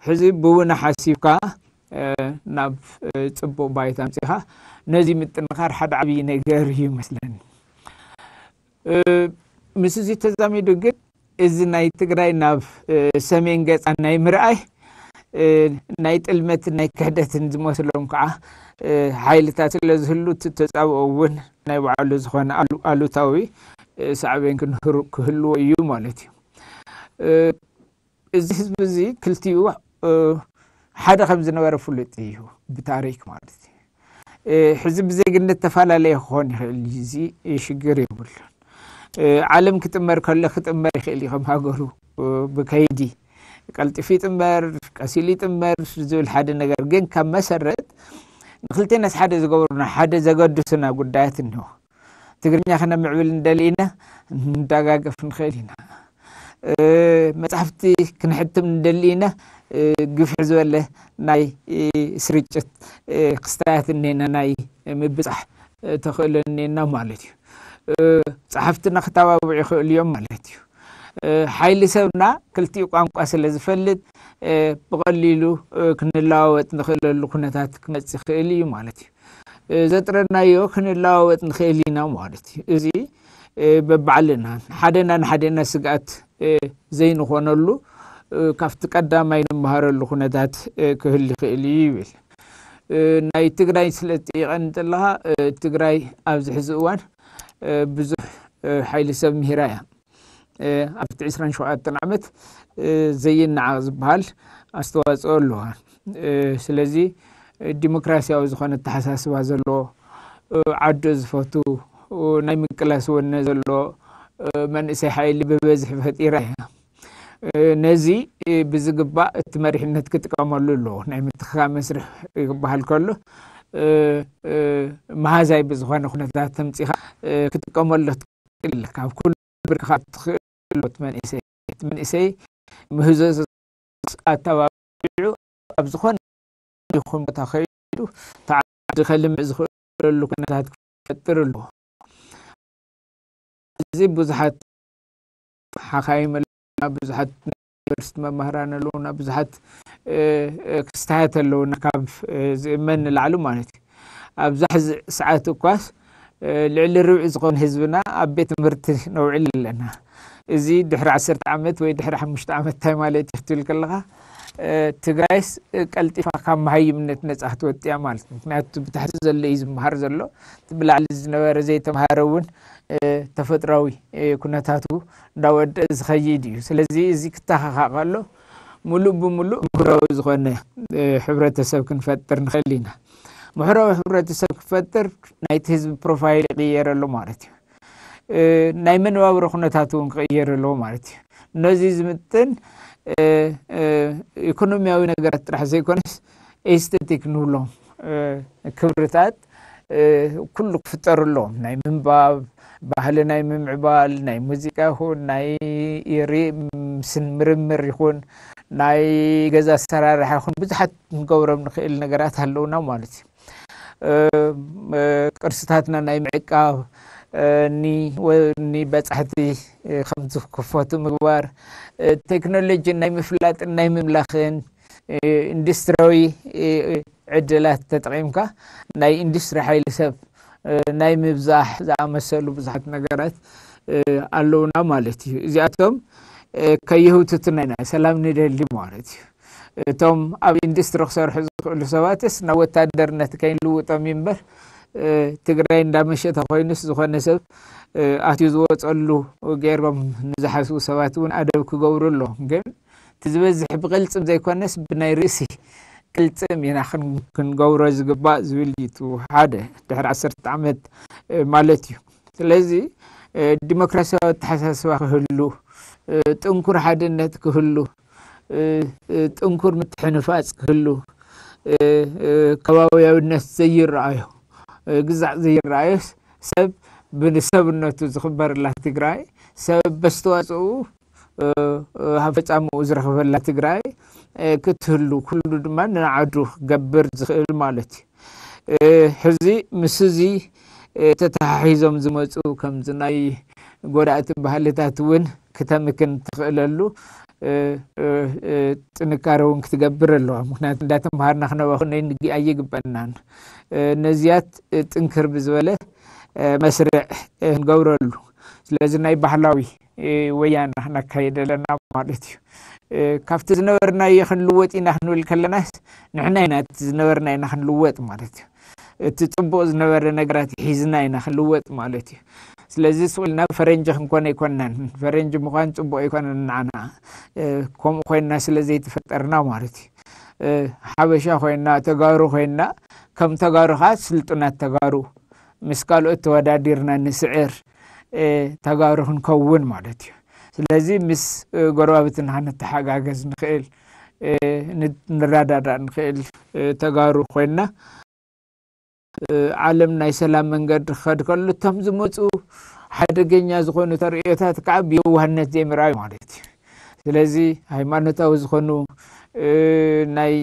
ሕዚ ብውነ ሓሲብካ ናብ ፅቡቕ ባይታ ኣምፂኻ ነዚ ምጥንኻር ሓደ ዓብዪ ነገር እዩ ይመስለኒ። ምስዚ ተዛሚዱ ግን እዚ ናይ ትግራይ ናብ ሰሜን ገፃ ናይ ምርኣይ ናይ ጥልመትን ናይ ክሕደትን ዝመስሎም ከዓ ሓይልታት ስለ ዝህሉ፣ እቲ ተፃብኦ እውን ናይ ባዕሉ ዝኾነ ኣሉታዊ ሳዕቤን ክህልዎ እዩ ማለት እዩ። እዚ ህዝቢ እዚ ክልቲኡ ሓደ ከም ዝነበረ ፍሉጥ እዩ፣ ብታሪክ ማለት እዩ። ሕዚ ብዜግነት ተፈላለየ ክኾን ይኽእል፣ እዚ ሽግር የብሉን። ዓለም ክጥመር ከሎ ክጥመር ይኽእል እዩ፣ ከም ሃገሩ ብከይዲ ቀልጢፉ ይጥመር፣ ቀሲሉ ይጥመር ዝብል ሓደ ነገር። ግን ካብ መሰረት ንክልቴናስ ሓደ ዝገብሩና፣ ሓደ ዘገድሱና ጉዳያት እኒሆ። ትግርኛ ክነምዕብል እንደሊ ኢና፣ ንደጋገፍ ንኽእል ኢና። መፅሓፍቲ ክንሕትም እንደሊ ኢና፣ ግፍሕ ዝበለ ናይ ስርጭት ክስታያት እኒና፣ ናይ ምብፃሕ ተኽእሎ እኒና ማለት እዩ። ፀሓፍትና ክተባብዑ ይኽእሉ እዮም ማለት እዩ። ሓይሊ ሰብና ክልቲኡ ቋንቋ ስለ ዝፈልጥ ብቐሊሉ ክንለዋወጥ ንኽእለሉ ኩነታት ክመፅእ ይኽእል እዩ ማለት እዩ። ዘጥረናዮ ክንለዋወጥ ንኽእል ኢና ማለት እዩ። እዚ በባዕልና ሓደና ንሓደና ስግኣት ዘይንኾነሉ፣ ካብቲ ቀዳማይ ንመሃረሉ ኩነታት ክህል ይኽእል እዩ ይብል። ናይ ትግራይ ስለ ትጠይቐኒ እንተለኻ፣ ትግራይ ኣብዚ ሕዚ እዋን ብዙሕ ሓይሊ ሰብ ምሂራ እያ። ኣብቲ ዕስራን ሸውዓተን ዓመት ዘይነዓቕ ዝበሃል ኣስተዋፅኦ ኣለዋ። ስለዚ ዲሞክራሲያዊ ዝኾነ ኣተሓሳስባ ዘለዎ፣ ዓዱ ዝፈቱ፣ ናይ ምቅላስ ወነ ዘለዎ መንእሰይ ሓይሊ ብበዝሒ ፈጢራ እያ። ነዚ ብዝግባእ እቲ መሪሕነት ክጥቀመሉ ኣለዎ። ናይ ምትኽኻእ መስርሕ ክበሃል ከሎ፣ መሃዛይ ብዝኾነ ኩነታት ተምፂኻ ክጥቀመሉ ትኽእል። ካብ ኩሉ ብርክኻ ትኽእል። መንእሰይ መንእሰይ ምህዞ ኣተባቢዑ ኣብ ዝኾነ ይኹን ቦታ ከይዱ ተዓዲ ከልምዕ ዝኽእለሉ ኩነታት ክፈጥር ኣለዎ። እዚ ብዙሓት ሓኻይም ኣለና፣ ብዙሓት ናይ ዩኒቨርሲቲ መምህራን ኣለውና፣ ብዙሓት ክስታያት ኣለውና፣ ካብ ዝእመን ንላዕሊ ማለት እዩ። ኣብዛ ሕዚ ሰዓት እኳስ ልዕሊ ርብዒ ዝኾነ ህዝብና ኣብ ቤት ትምህርቲ ነውዕል ኣለና። እዚ ድሕሪ ዓሰርተ ዓመት ወይ ድሕሪ ሓሙሽተ ዓመት እንታይ ማለት እዩ ክትብል ከለኻ፣ ትግራይስ ቀልጢፋ ካብ መሃይምነት ነፃ ክትወፅእ እያ ማለት እዩ። ምክንያቱ ብታሕቲ ዘሎ እዩ ዝመሃር ዘሎ፣ እቲ ብላዕሊ ዝነበረ ዘይተምሃረ እውን ተፈጥራዊ ኩነታቱ እንዳወደአ ዝኸይድ እዩ። ስለዚ እዚ ክተኻኻእ ከሎ ሙሉእ ብሙሉእ ምሁራዊ ዝኾነ ሕብረተሰብ ክንፈጥር ንኽእል ኢና። ምሁራዊ ሕብረተሰብ ክፈጥር ናይቲ ህዝቢ ፕሮፋይል ይቕየር ኣሎ ማለት እዩ። ናይ መነባብሮ ኩነታት እውን ክቕየር ኣለዎ ማለት እዩ። ነዚ ዝምጥን ኢኮኖሚያዊ ነገራት ጥራሕ ዘይኮነስ ኤስቴቲክ ንብሎም ክብርታት ኩሉ ክፍጠሩ ኣለዎም። ናይ ምንባብ ባህሊ፣ ናይ ምምዕባል፣ ናይ ሙዚቃ ይኹን ናይ ርምስን ምርምር ይኹን ናይ ገዛ ኣሰራርሓ ይኹን ብዙሓት ንገብሮም ንኽእል ነገራት ኣለውና ማለት እዩ። ቅርስታትና ናይ ምዕቃብ፣ ንበፃሕቲ ከም ዝክፈቱ ምግባር፣ ቴክኖሎጂ ናይ ምፍላጥን ናይ ምምላኽን፣ ኢንዱስትሪያዊ ዕድላት ተጠቒምካ ናይ ኢንዱስትሪ ሓይሊ ሰብ ናይ ምብዛሕ ዝኣመሰሉ ብዙሓት ነገራት ኣለውና ማለት እዩ። እዚኣቶም ከየህውትቱና ኢና ሰላም ንደሊ ማለት እዩ። እቶም ኣብ ኢንዱስትሪ ክሰርሑ ዝኽእሉ ሰባትስ ናብ ወታደርነት ከይንልውጦም እዩ እምበር፣ ትግራይ እንዳመሸተ ኮይኑስ ዝኾነ ሰብ ኣትዩ ዝወፀሉ ገይሮም ንዝሓስቡ ሰባት እውን ኣደብ ክገብሩ ኣለዎም። ግን እቲ ዝበዝሕ ብቕልፅም ዘይኮነስ ብናይ ርእሲ ቅልፅም ኢና ክንገብሮ ዝግባእ ዝብል እዩ። እቲ ሓደ ድሕሪ ዓሰርተ ዓመት ማለት እዩ። ስለዚ ዲሞክራሲያዊ ኣተሓሳስባ ክህሉ፣ ጥንኩር ሓድነት ክህሉ፣ ጥንኩር ምትሕንፋፅ ክህሉ፣ ከባቢያዊነት ዘይረኣዮ፣ ግዛዕ ዘይረኣዮ ሰብ ብሰብነቱ ዝኽበርላ ትግራይ፣ ሰብ በስተዋፅኡ ኣብ ፈፃምኡ ዝረኽበላ ትግራይ ክትህሉ፣ ኩሉ ድማ ንዓዱ ክገብር ዝኽእል ማለት እዩ። ሕዚ ምስ እዚ ተተሓሒዞም ዝመፁ ከምዚ ናይ ጎዳእቲ ባህልታት እውን ክተምክን ትኽእለሉ ጥንካረ እውን ክትገብር ኣለዋ። ምክንያቱ እንዳተምሃርና ክነበኹ ኣይግበናን። ነዚያት ጥንክር ብዝበለ መስርዕ ክንገብረሉ። ስለዚ ናይ ባህላዊ ወያና ክነካይድ ኣለና ማለት እዩ። ካብቲ ዝነበርናዮ ክንልወጥ ኢና ክንብል ከለናስ ንሕና ኢና እቲ ዝነበርና ኢና ክንልወጥ ማለት እዩ። እቲ ፅቡቕ ዝነበረ ነገራት ሒዝና ኢና ክንልወጥ ማለት እዩ። ስለዚ ስቕ ኢልና ፈረንጂ ክንኮን ኣይኮናን። ፈረንጂ ምዃን ፅቡቕ ኣይኮነን ንዓና። ከምኡ ኮይና ስለ ዘይተፈጠርና ማለት እዩ። ሓበሻ ኮይና፣ ተጋሩ ኮይና፣ ከም ተጋሩ ከዓ ስልጡናት ተጋሩ ምስ ካልኦት ተወዳዲርና ንስዕር ተጋሩ ክንከውን ማለት እዩ። ስለዚ ምስ ጎረባብትና ንተሓጋገዝ ንኽእል፣ ንረዳዳእ ንኽእል ተጋሩ ኮይና ዓለም ናይ ሰላም መንገዲ ክኸድ ከሎ እቶም ዝመፁ ሓደገኛ ዝኾኑ ተርእዮታት ከዓ ብየዋህነት ዘይምርኣዩ ማለት እዩ። ስለዚ ሃይማኖታዊ ዝኾኑ ናይ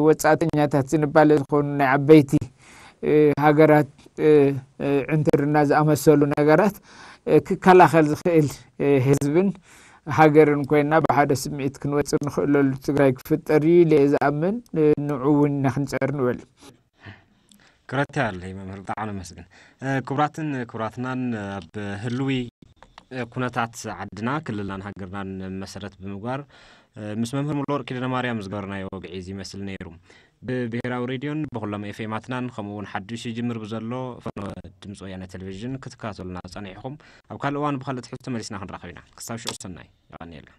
ወፃእተኛታት ዝንባለ ዝኾኑ ናይ ዓበይቲ ሃገራት ዕንትርና ዝኣመሰሉ ነገራት ክከላኸል ዝኽእል ህዝብን ሃገርን ኮይና ብሓደ ስምዒት ክንወፅእ ንኽእለሉ ትግራይ ክፍጠር እዩ ኢለ እየ ዝኣምን። ንዑ እውን ኢና ክንፀር ንብል። ክረታ ኣለይ መምህር ብጣዕሚ ነመስግን። ክቡራትን ክቡራትናን ኣብ ህልዊ ኩነታት ዓድና ክልልናን ሃገርናን መሰረት ብምግባር ምስ መምህር ሙሉወርቅ ኪዳነ ማርያም ዝገበርናዮ ወግዒ እዚ ይመስል ነይሩ። ብብሄራዊ ሬድዮን ብኩሎም ኤፍኤማትናን ከምኡ እውን ሓዱሽ ይጅምር ብዘሎ ፈኖ ድምፂ ወያነ ቴሌቪዥን ክትከታተሉና ፀኒሕኹም ኣብ ካልእ እዋን ብካልእ ትሕዝቶ መሊስና ክንራኸብ ኢና። ክሳብ ሽዑ ሰናይ። የቐንየልና።